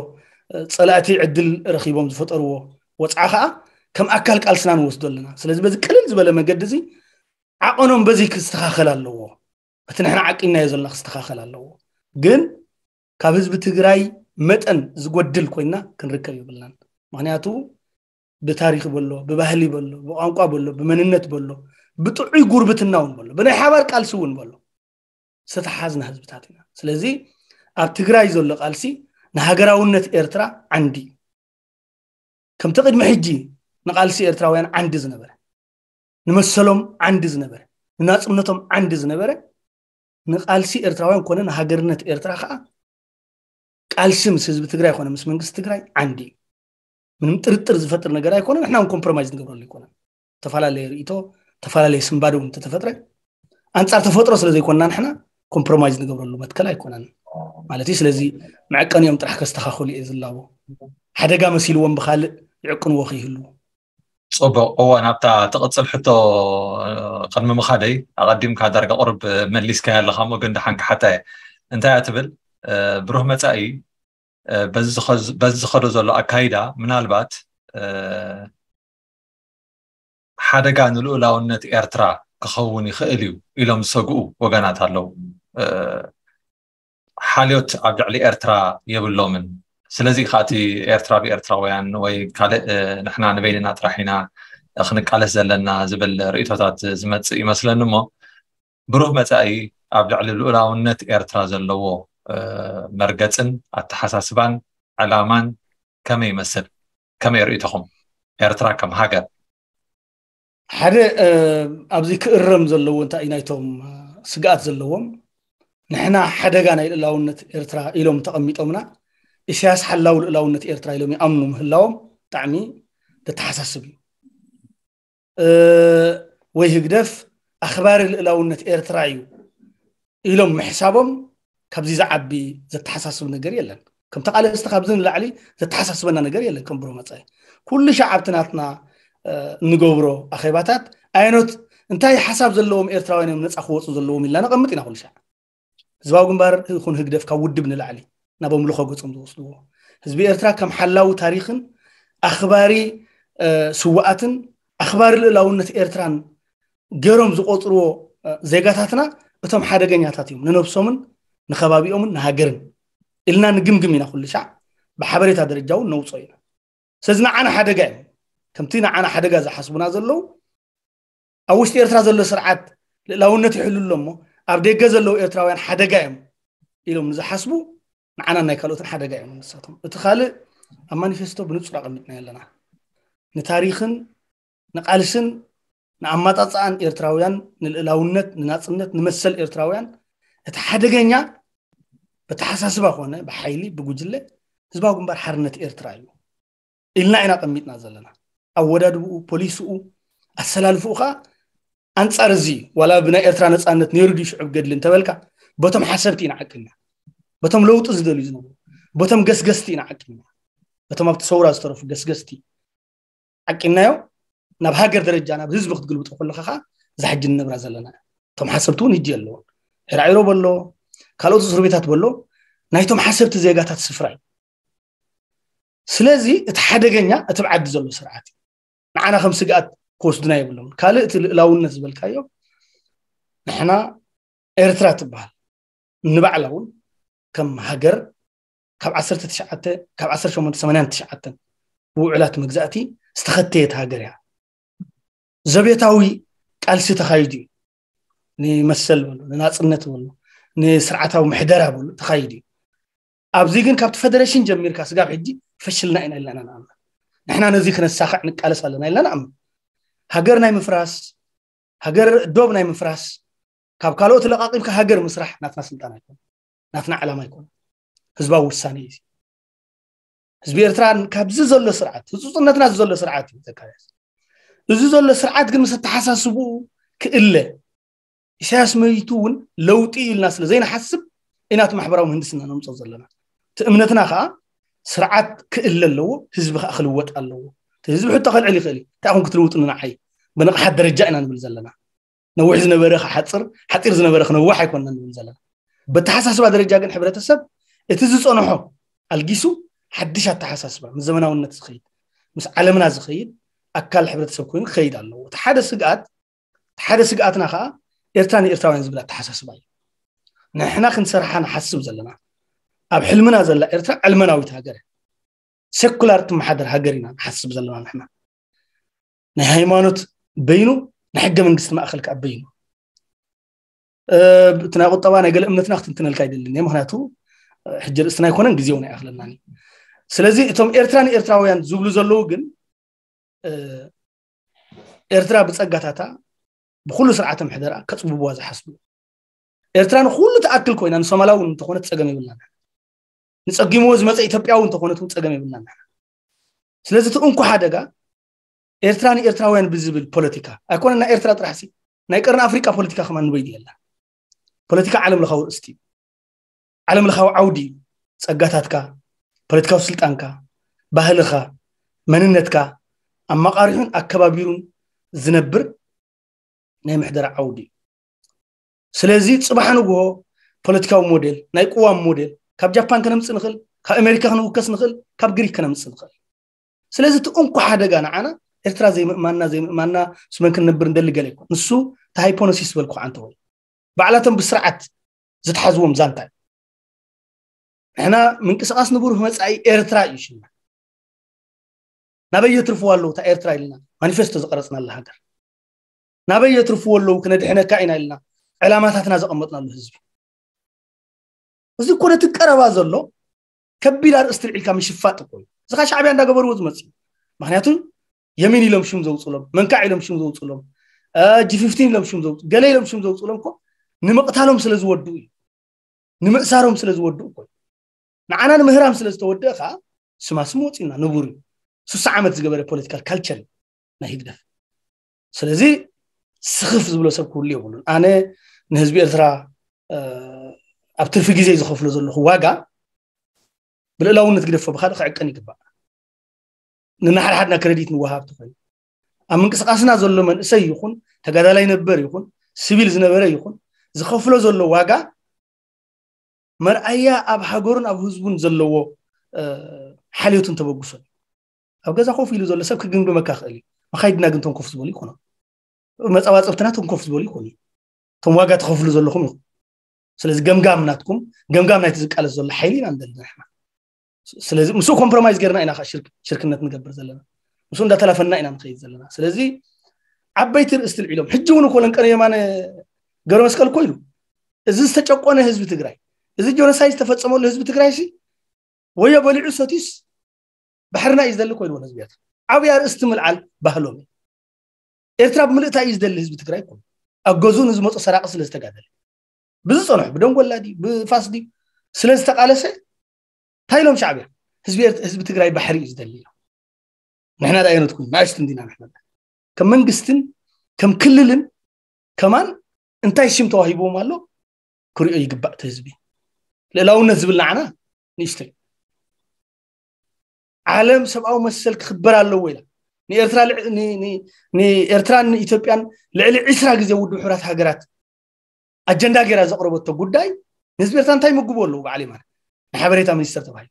ጸላእቲ ዕድል ረኺቦም ዝፈጠርዎ ወፅዓ ከዓ ከም ኣካል ቃልስና ንወስዶ ኣለና። ስለዚ በዚ ቅልል ዝበለ መገዲ እዚ ዓቐኖም በዚ ክስተኻኸል ኣለዎ። እቲ ንሕና ዓቂንናዮ ዘለና ክስተኻኸል ኣለዎ። ግን ካብ ህዝቢ ትግራይ መጠን ዝጎድል ኮይና ክንርከብ የብልናን። ምክንያቱ ብታሪክ በሎ፣ ብባህሊ በሎ፣ ብቋንቋ በሎ፣ ብመንነት በሎ፣ ብጥዑይ ጉርብትና እውን በሎ፣ ብናይ ሓባር ቃልሲ እውን በሎ ዝተተሓዝና ህዝብታት ኢና። ስለዚ ኣብ ትግራይ ዘሎ ቃልሲ ንሃገራውነት ኤርትራ ዓንዲ እዩ። ከምቲ ቅድሚ ሕጂ ንቃልሲ ኤርትራውያን ዓንዲ ዝነበረ፣ ንመሰሎም ዓንዲ ዝነበረ፣ ንናጽነቶም ዓንዲ ዝነበረ፣ ንቃልሲ ኤርትራውያን ኮነ ንሃገርነት ኤርትራ ከዓ ቃልሲ ምስ ህዝቢ ትግራይ ኮነ ምስ መንግስቲ ትግራይ ዓንዲ እዩ። ምንም ጥርጥር ዝፈጥር ነገር ኣይኮነን። ንሕና እውን ኮምፕሮማይዝ ንገብረሉ ኣይኮነን። ተፈላለየ ርእይቶ፣ ተፈላለየ ስንባደ እውን እንተተፈጥረ ኣንጻር ተፈጥሮ ስለ ዘይኮንና ንሕና ኮምፕሮማይዝ ንገብረሉ መትከል ኣይኮነን። ማለት እዩ። ስለዚ መዕቀኒኦም ጥራሕ ከስተኻኽሉ እየ ዝላቦ። ሓደጋ መሲልዎም ብኻልእ ይዕቅንዎ ከይህልዉ። ጽቡቕ። እወ፣ ናብታ ትቕጽል ሕቶ ቅድሚ ምኻደይ ኣቐዲምካ ዳርጋ ቁሩብ መሊስካያ ኣለኻ እሞ ግን ደሓን ክሓታ እየ። እንታይ እያ ትብል? ብሩህ መጻኢ በዚ ዝኸዶ ዘሎ ኣካይዳ ምናልባት ሓደጋ ንልኡላውነት ኤርትራ ክኸውን ይኽእል እዩ ኢሎም ዝሰግኡ ወገናት ኣለዉ። ሓልዮት ኣብ ልዕሊ ኤርትራ የብሎምን። ስለዚ ከኣ እቲ ኤርትራ ብኤርትራውያን ወይ ካልእ ንሕና ንበይንና ጥራሕ ኢና ክንቃለስ ዘለና ዝብል ርእይቶታት ዝመጽእ ይመስለኒ እሞ ብሩህ መጻኢ ኣብ ልዕሊ ልኡላውነት ኤርትራ ዘለዎ መርገጽን ኣተሓሳስባን ዕላማን ከመይ ይመስል? ከመይ ርእይቶኹም? ኤርትራ ከም ሃገር ሓደ ኣብዚ ክእረም ዘለዎ እንታይ እዩ ናይቶም ስግኣት ዘለዎም ንሕና ሓደጋ ናይ ልእላውነት ኤርትራ ኢሎም ተቐሚጦምና ኢሳያስ ሓላው ልእላውነት ኤርትራ ኢሎም ይኣምኑ ምህላዎም ብጣዕሚ ዘተሓሳስብ እዩ። ወይ ህግደፍ ኣኽባሪ ልእላውነት ኤርትራ እዩ ኢሎም ምሕሳቦም ካብዚ ዝዓቢ ዘተሓሳስብ ነገር የለን። ከም ተቓለስቲ ካብዚ ንላዕሊ ዘተሓሳስበና ነገር የለን። ከም ብሩህ መጻኢ ኩሉ ሻዕ ኣብቲ ናትና እንገብሮ ኣኼባታት ኣየኖት እንታይ ሓሳብ ዘለዎም ኤርትራውያን እዮም ነፃ ክወፁ ዘለዎም ኢልና ነቐምጥ ኢና ኩሉ ሻዕ። ህዝባዊ ግንባር ይኹን ህግደፍ ካብ ውድብ ንላዕሊ ናብ ኣምልኾ ገጾም ዝወስድዎ፣ ህዝቢ ኤርትራ ከም ሓላዊ ታሪኽን ኣኽባሪ ስውኣትን ኣኽባሪ ልእላውነት ኤርትራን ገይሮም ዝቆጽርዎ ዜጋታትና፣ እቶም ሓደገኛታት እዮም ንነብሶምን ንኸባቢኦምን ንሃገርን ኢልና ንግምግም ኢና። ኩሉ ሻዕ ብሓበሬታ ደረጃ እውን ነውፅኦ ኢና። ስለዚ ንዓና ሓደጋ እዮም። ከምቲ ንዓና ሓደጋ ዝሓስቡና ዘለዉ፣ ኣብ ውሽጢ ኤርትራ ዘሎ ስርዓት ልእላውነት ይሕሉ ኣሎ እሞ፣ ኣብ ደገ ዘለዉ ኤርትራውያን ሓደጋ እዮም ኢሎም ንዝሓስቡ፣ ንዓና ናይ ካልኦትን ሓደጋ እዮም ንሳቶም። እቲ ካልእ፣ ኣብ ማኒፌስቶ ብንጹር ኣቐሚጥና ኣለና። ንታሪኽን ንቃልስን ንኣማጻጽኣን ኤርትራውያን፣ ንልእላውነት፣ ንናጽነት፣ ንመሰል ኤርትራውያን፣ እቲ ሓደገኛ ብተሓሳስባ ኮነ ብሓይሊ ብጉጅለ ህዝባዊ ግንባር ሓርነት ኤርትራ እዩ ኢልና ኢና ቀሚጥና ዘለና። ኣወዳድብኡ፣ ፖሊስኡ፣ ኣሰላልፍኡ ከዓ ኣንጻር እዚ እዩ። ዋላ ብናይ ኤርትራ ነጻነት ነይሩ ድዩ ሽዑብ ገድሊ እንተበልካ፣ በቶም ሓሰብቲ ኢና ዓቂልና፣ በቶም ለውጢ ዝደልዩ ዝነበሩ፣ በቶም ገስገስቲ ኢና ዓቂልና፣ በቶም ኣብቲ ሰውራ ዝተረፉ ገስገስቲ ዓቂናዮ። ናብ ሃገር ደረጃ፣ ናብ ህዝቢ ክትግልብጦ ከለካ ከዓ፣ እዛ ሕጂ ንነብራ ዘለና፣ እቶም ሓሰብቲ እውን ህጂ ኣለውን። ዒራዒሮ በሎ፣ ካልኦት እስር ቤታት በሎ፣ ናይቶም ሓሰብቲ ዜጋታት ስፍራ እዩ። ስለዚ እቲ ሓደገኛ እቲ ብዓዲ ዘሎ ስርዓት እዩ። ንዓና ከም ስግኣት ክወስዱና የብሎም። ካልእ እቲ ልእላውነት ዝበልካዮ፣ ንሕና ኤርትራ ትበሃል ንባዕላ እውን ከም ሃገር ካብ ዓሰርተ ትሽዓተ፣ ካብ ዓሰርተ ሸሞንተ ሰማንያን ትሽዓተን ብውዕላት መግዛእቲ ዝተኸተየት ሃገር እያ። ዘቤታዊ ቃልሲ ተኻይዱ እዩ። ንመሰል በሉ፣ ንናጽነት በሉ፣ ንስርዓታዊ ምሕደራ በሉ ተኻይዱ እዩ። ኣብዚ ግን ካብቲ ፈደረሽን ጀሚርካ ስጋብ ሕጂ ፈሽልና ኢና ኢልና ኢና ንኣምን። ንሕና ነዚ ክነሳኽዕ ንቃለስ ኣለና ኢልና ንኣምን። ሃገር ናይ ምፍራስ፣ ሃገር ዶብ ናይ ምፍራስ፣ ካብ ካልኦት ለቓቒምካ ሃገር ምስራሕ ናትና ስልጣን ኣይኮነ፣ ናትና ዓላማ ኣይኮነ። ህዝባዊ ውሳኔ እዩ። ህዝቢ ኤርትራ ካብዚ ዘሎ ስርዓት፣ ህጹጽነትና እዚ ዘሎ ስርዓት እዩ ዘካየስ። እዚ ዘሎ ስርዓት ግን ምስ ኣተሓሳስብኡ ክእለ፣ ኢሳያስ መይቱ እውን ለውጢ ኢልና ስለ ዘይንሓስብ ኢና እቲ ማሕበራዊ ምህንድስና ነምጾ ዘለና። እቲ እምነትና ከዓ ስርዓት ክእለ ኣለዎ፣ ህዝቢ ከዓ ክልወጥ ኣለዎ። እቲ ህዝቢ ሕቶ ከልዕል ይኽእል እዩ። እንታይ ኢኹም ክትልውጡኒ ንዓይ? ብንቕሓት ደረጃ ኢና ንብል ዘለና። ነዊሕ ዝነበረ ክሓጽር፣ ሓጺር ዝነበረ ክነውሕ ኣይኮንና ንብል ዘለና። በተሓሳስባ ደረጃ ግን ሕብረተሰብ እቲ ዝጸንሖ ኣልጊሱ ሓድሽ ኣተሓሳስባ ምስ ዘመናውነት ዝኸይድ፣ ምስ ዓለምና ዝኸይድ ኣካል ሕብረተሰብ ኮይኑ ክኸይድ ኣለዎ። እቲ ሓደ ስግኣት፣ እቲ ሓደ ስግኣትና ከዓ ኤርትራ ንኤርትራውያን ዝብል ኣተሓሳስባ እዩ። ንሕና ክንሰርሓ ንሓስብ ዘለና፣ ኣብ ሕልምና ዘላ ኤርትራ ዕልመናዊት ሃገር እያ። ሴኩላር ትመሓደር ሃገር ኢና ንሓስብ ዘለና ንሕና። ናይ ሃይማኖት በይኑ፣ ናይ ሕገ መንግስቲ ማእከል ከዓ በይኑ። እ፣ እቲ ናይ ቁጠባ ናይ ገለ እምነትና ክትንትነልካ ኣይደልን እየ፣ ምኽንያቱ፣ እ፣ ሕጂ ርእስትና ኣይኮነን፣ ግዜ እውን ኣይኣኽለናን እዩ። ስለዚ እቶም ኤርትራ ንኤርትራውያን ዝብሉ ዘለዉ ግን፣ እ፣ ኤርትራ ብጸጋታታ፣ ብኹሉ ስርዓተ ምሕደራ ከጽብብዋ ዝሓስቡ። ኤርትራ ንኹሉ ትኣክል ኮይና ንሶማላዊ እውን እንተኾነት ጸገም የብልናን። ንጸጊምዎ ዝመጸ ኢትዮጵያዊ እንተኾነት እውን ጸገም የብልናን። ስለዚ እቲ እንኮ ሓደጋ ኤርትራ ንኤርትራውያን ብዝብል ፖለቲካ ኣይኮነን፣ ናይ ኤርትራ ጥራሕሲ፣ ናይ ቀርኒ ኣፍሪቃ ፖለቲካ ከማን ንበይኑ የለን። ፖለቲካ ዓለም ለኻዊ ርእስቲ እዩ። ዓለም ለኻዊ ዓውዲ እዩ። ጸጋታትካ፣ ፖለቲካዊ ስልጣንካ፣ ባህልኻ፣ መንነትካ ኣመቓሪሑን ኣከባቢሩን ዝነብር ናይ ምሕደራ ዓውዲ እዩ። ስለዚ ጽባሕ ንግሆ ፖለቲካዊ ሞዴል፣ ናይ ቅዋም ሞዴል ካብ ጃፓን ከነምጽእ ንኽእል፣ ካብ ኣሜሪካ ክንውከስ ንኽእል፣ ካብ ግሪክ ከነምጽእ ንኽእል። ስለዚ እቲ እንኮ ሓደጋ ንዓና ኤርትራ ዘይምእማንና፣ ዘይምእማንና ምስ መን ክንነብር እንደሊ ገለ ይኮን። ንሱ እቲ ሃይፖኖሲስ ዝበልኩ ዓንተ ወይ ባዕላቶም ብስርዓት ዝትሓዝዎም ዛንታ እዩ። ንሕና ምንቅስቃስ ንብሩህ መጻኢ ኤርትራ እዩ ሽምና። ናበይ የትርፍዋ ኣለዉ እታ ኤርትራ ኢልና ማኒፌስቶ ዝቀረጽናላ ሃገር? ናበይ የትርፍዎ ኣለዉ ክነድሕነካ ኢና ኢልና ዕላማታትና ዘቐመጥናሉ ህዝቢ? እዚ እኮ ነቲ ቀረባ ዘሎ ከቢድ ኣርእስቲ ልዒልካ ምሽፋጥ እኮ እዩ። እዚ ኸ ሻዕብያ እንዳገበርዎ ዝመጽእ እዩ። ምኽንያቱ የሚን ኢሎም ሽም ዘውፅሎም፣ መንካዕ ኢሎም ሽም ዘውፅሎም፣ እ፣ ጂ ፊፍቲን ኢሎም ሽም ዘውፅ-፣ ገለ ኢሎም ሽም ዘውፅሎም እኮ ንምቕታሎም ስለ ዝወድኡ እዩ። ንምእሳሮም ስለ ዝወድኡ እኮ እዩ። ንዓና ንምህራም ስለ ዝተወደአ ከዓ ስማ ስም ወፂኡና ንቡር እዩ። ስሳ ዓመት ዝገበረ ፖለቲካል ካልቸር እዩ ናይ ህግደፍ። ስለዚ ስኽፍ ዝብሎ ሰብ ክህሉ የብሉን። ኣነ ንህዝቢ ኤርትራ፣ እ፣ ኣብ ትርፊ ግዜ ዝኸፍሎ ዘለኹ ዋጋ ብልእላውነት ግደፎ ብካልእ ክዕቀን ይግባእ። ንናሓድሓድና ክረዲት ንወሃብ ተኾይኑ፣ ኣብ ምንቅስቃስና ዘሎ መንእሰይ ይኹን ተጋዳላይ ነበር ይኹን ሲቪል ዝነበረ ይኹን ዝኸፍሎ ዘሎ ዋጋ መርኣያ ኣብ ሃገሩን ኣብ ህዝቡን ዘለዎ ሓልዮትን ተበግሶን። ኣብ ገዛ ኮፍ ኢሉ ዘሎ ሰብ ክግምግመካ ክእል እዩ። መኻይድና ግን ቶም ኮፍ ዝበሉ ይኮኑ፣ መፀባፀብትና ቶም ኮፍ ዝበሉ ይኮኑ፣ ቶም ዋጋ ተኸፍሉ ዘለኹም ይኹም። ስለዚ ገምጋም ናትኩም፣ ገምጋም ናይቲ ዝቃለስ ዘሎ ሓይሊ ኢና ንደሊ ንሕና። ስለዚ ምስኡ ኮምፕሮማይዝ ገርና ኢና ሽርክነት ንገብር ዘለና፣ ምስኡ እንዳተላፈና ኢና ንኸይድ ዘለና። ስለዚ ዓበይቲ ርእስቲ ልዒሎም ሕጂ እውን እኮ ለንቀነ የማነ ገብረ መስቀል እኮ ኢሉ፣ እዚ ዝተጨቆነ ህዝቢ ትግራይ፣ እዚ ጆኖሳይድ ዝተፈፀመሉ ህዝቢ ትግራይ ሲ ወዮ በሊዑ ሰቲስ ባሕርና እዩ ዝደሊ እኮ ኢልዎ ህዝቢ ኤርትራ። ዓብያ ርእስቲ ምልዓል ባህሎም እዩ። ኤርትራ ብምልእታ እዩ ዝደሊ ህዝቢ ትግራይ እኮ። ኣብ ገዝኡ ንዝመፁ ሰራቂ ስለ ዝተጋደለ፣ ብዝፀንሑ ብደንጎላ ድዩ ብፋስ ድዩ ስለ ዝተቃለሰ እንታይ ኢሎም ሻዕብያ? ህዝቢ ትግራይ ባሕሪ እዩ ዝደሊ ኢሎም። ንሕና ዳ ኣይነትኩም ናእሽቱ እንዲና ንሕና ከም መንግስትን ከም ክልልን ከማን እንታይ ሽም ተዋሂብዎም ኣሎ ክሪኦ ይግባእ እቲ ህዝቢ። ልእላውነት ዝብል ንዓና ንእሽተይ። ዓለም ሰብኣዊ መሰል ክኽበር ኣለዎ ኢላ ንኤርትራን ኢትዮጵያን ልዕሊ ዕስራ ግዜ ውድብ ሕራት ሃገራት ኣጀንዳ ገይራ ዘቕረበቶ ጉዳይ ንህዝቢ ኤርትራ እንታይ ምግቡ ኣለዉ? በዓል የማነ ንሓበሬታ ሚኒስተር ተባሂሉ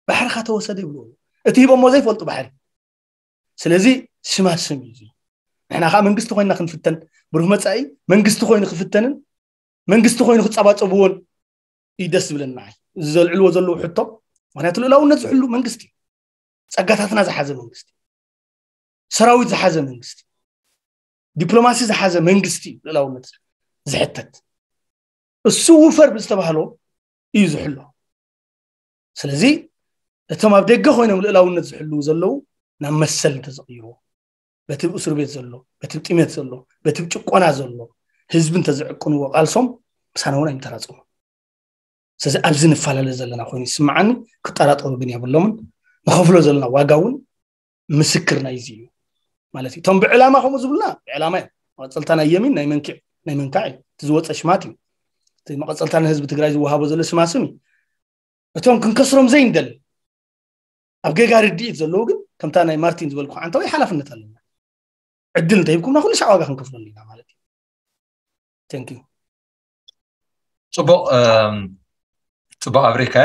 ባሕርካ ተወሰደ ይብሉ። እቲ ሂቦሞ ዘይፈልጡ ባሕሪ። ስለዚ ሽማሽም እዩ። ንሕና ከዓ መንግስቲ ኮይና ክንፍተን ብሩህ መፃኢ መንግስቲ ኮይኑ ክፍተንን መንግስቲ ኮይኑ ክፀባፀብዎን እዩ ደስ ዝብለኒ ንዓይ። እዚ ዘልዕልዎ ዘለዉ ሕቶ ምክንያቱ ልእላውነት ዝሕሉ መንግስቲ እዩ። ፀጋታትና ዝሓዘ መንግስቲ፣ ሰራዊት ዝሓዘ መንግስቲ፣ ዲፕሎማሲ ዝሓዘ መንግስቲ እዩ ልእላውነት ዝሕተት። እሱ ውፈር ብዝተባህሎ እዩ ዝሕሎ። ስለዚ እቶም ኣብ ደገ ኮይኖም ልእላውነት ዝሕልዉ ዘለዉ ናብ መሰል እንተዘቕይርዎ በቲ እስር ቤት ዘሎ በቲ ጥሜት ዘሎ በቲ ጭቆና ዘሎ ህዝቢ እንተዝዕቅንዎ ቃልሶም ምሳና እውን ኣይምተራፅሙ። ስለዚ ኣብዚ ንፈላለ ዘለና ኮይኑ ይስምዓኒ። ክጠራጠሩ ግን የብሎምን። ንኸፍሎ ዘለና ዋጋ እውን ምስክር ናይዚ እዩ ማለት እዩ። እቶም ብዕላማ ከምኡ ዝብሉና ብዕላማ እዮም። መቐፀልታ ናይ የሚን ናይ መንክዕ ናይ መንካዕ እዩ። እቲ ዝወፀ ሽማት እዩ። እቲ መቐፀልታ ንህዝቢ ትግራይ ዝወሃቦ ዘሎ ስማስም እዩ። እቶም ክንከስሮም ዘይንደል ኣብ ጌጋ ርድኢት ዘለዉ ግን ከምታ ናይ ማርቲን ዝበልኩ ዓንተወይ ሓላፍነት ኣለና። ዕድል እንተሂብኩምና ኩሉ ሻዕ ዋጋ ክንከፍለሉ ኢና ማለት እዩ። Thank you። ፅቡቕ ፅቡቕ ኣብሪካ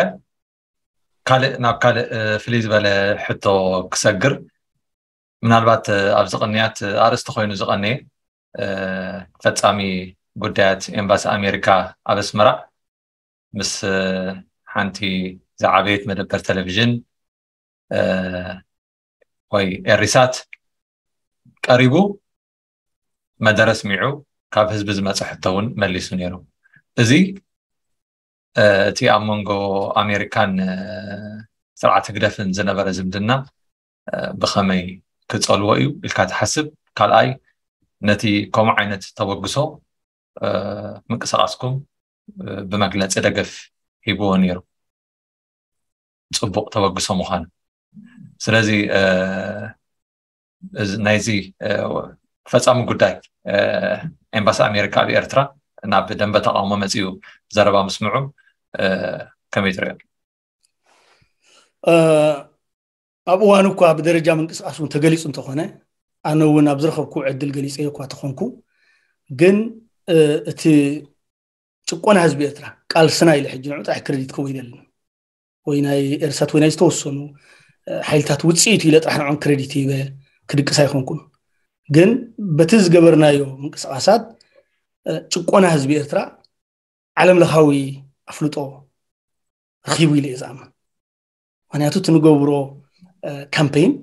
ካልእ ናብ ካልእ ፍልይ ዝበለ ሕቶ ክሰግር ምናልባት ኣብዚ ቅንያት ኣርእስቲ ኮይኑ ዝቐነየ ፈጻሚ ጉዳያት ኤምባሲ ኣሜሪካ ኣብ ኣስመራ ምስ ሓንቲ ዝዓበየት መደበር ቴሌቪዥን ወይ ኤሪሳት ቀሪቡ መደረ ስሚዑ ካብ ህዝቢ ዝመፀ ሕቶ እውን መሊሱ ነይሩ። እዚ እቲ ኣብ መንጎ ኣሜሪካን ስርዓት ህግደፍን ዝነበረ ዝምድና ብኸመይ ክፀልዎ እዩ ኢልካ ትሓስብ? ካልኣይ ነቲ ከምኡ ዓይነት ተበግሶ ምንቅስቃስኩም ብመግለፂ ደገፍ ሂብዎ ነይሩ ፅቡቅ ተበግሶ ምዃኑ። ስለዚ ናይዚ ፈፃሚ ጉዳይ ኤምባሲ ኣሜሪካ ኣብ ኤርትራ ናብ ደንበ ተቃውሞ መፂኡ ዘረባ ምስምዑ ከመይ ትሪኦ? ኣብ እዋኑ እኳ ብደረጃ ምንቅስቃስ እውን ተገሊፁ እንተኾነ ኣነ እውን ኣብ ዝረኸብኩ ዕድል ገሊፀዮ እኳ ተኾንኩ ግን እቲ ጭቆና ህዝቢ ኤርትራ ቃልስና ኢለ ሕጂ ንዑ ጥራሕ ክረዲት ክህቦ ይደልን ወይ ናይ ኤርሳት ወይ ናይ ዝተወሰኑ ሓይልታት ውፅኢት ኢለ ጥራሕ ንዖም ክረዲት ሂበ ክድቅስ ኣይኮንኩን። ግን በቲ ዝገበርናዮ ምንቅስቃሳት ጭቆና ህዝቢ ኤርትራ ዓለም ለኻዊ ኣፍልጦ ረኺቡ ኢለ እየ ዝኣምን። ምክንያቱ እቲ ንገብሮ ካምፔይን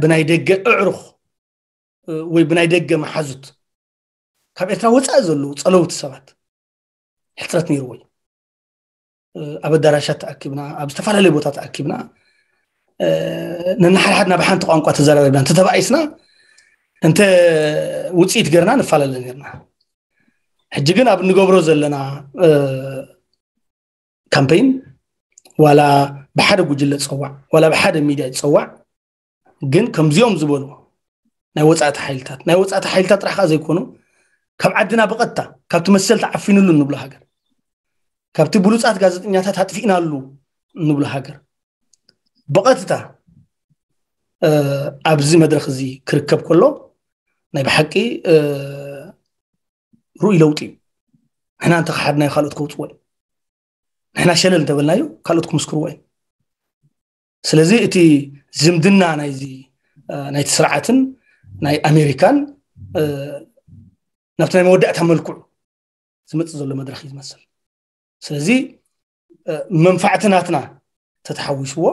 ብናይ ደገ ኣዕሩኽ ወይ ብናይ ደገ መሓዙት ካብ ኤርትራ ወፃኢ ዘለዉ ፀለውቲ ሰባት ሕፅረት ነይርዎ እዩ። ኣብ ኣዳራሻት ተኣኪብና ኣብ ዝተፈላለዩ ቦታ ተኣኪብና ነንሓድሓድና ብሓንቲ ቋንቋ ተዘራሪብና እንተተባኢስና እንተ ውፅኢት ገርና ንፈላለ ነርና። ሕጂ ግን ኣብ እንገብሮ ዘለና ካምፔይን ዋላ ብሓደ ጉጅለ ዝፀዋዕ ዋላ ብሓደ ሚድያ ዝፀዋዕ ግን ከምዚኦም ዝበሉ ናይ ወፃእቲ ሓይልታት ናይ ወፃእቲ ሓይልታት ጥራሕ ከዓ ዘይኮኑ ካብ ዓድና ብቐጥታ ካብቲ መሰል ተዓፊንሉ እንብሎ ሃገር ካብቲ ብሉፃት ጋዜጠኛታት ኣጥፊእናሉ እንብሎ ሃገር ብቐጥታ ኣብዚ መድረክ እዚ ክርከብ ከሎ ናይ ብሓቂ ርኡይ ለውጢ እዩ። ንሕና እንተኸሓድናዮ ካልኦት ከውፅዎ እዩ። ንሕና ሸለል እንተበልናዮ ካልኦት ክምስክርዎ እዩ። ስለዚ እቲ ዝምድና ናይዚ ናይቲ ስርዓትን ናይ ኣሜሪካን ናብቲ ናይ መወዳእታ መልክዑ ዝመፅእ ዘሎ መድረኽ እዩ ዝመስል። ስለዚ መንፋዕቲ ናትና ተተሓዊስዎ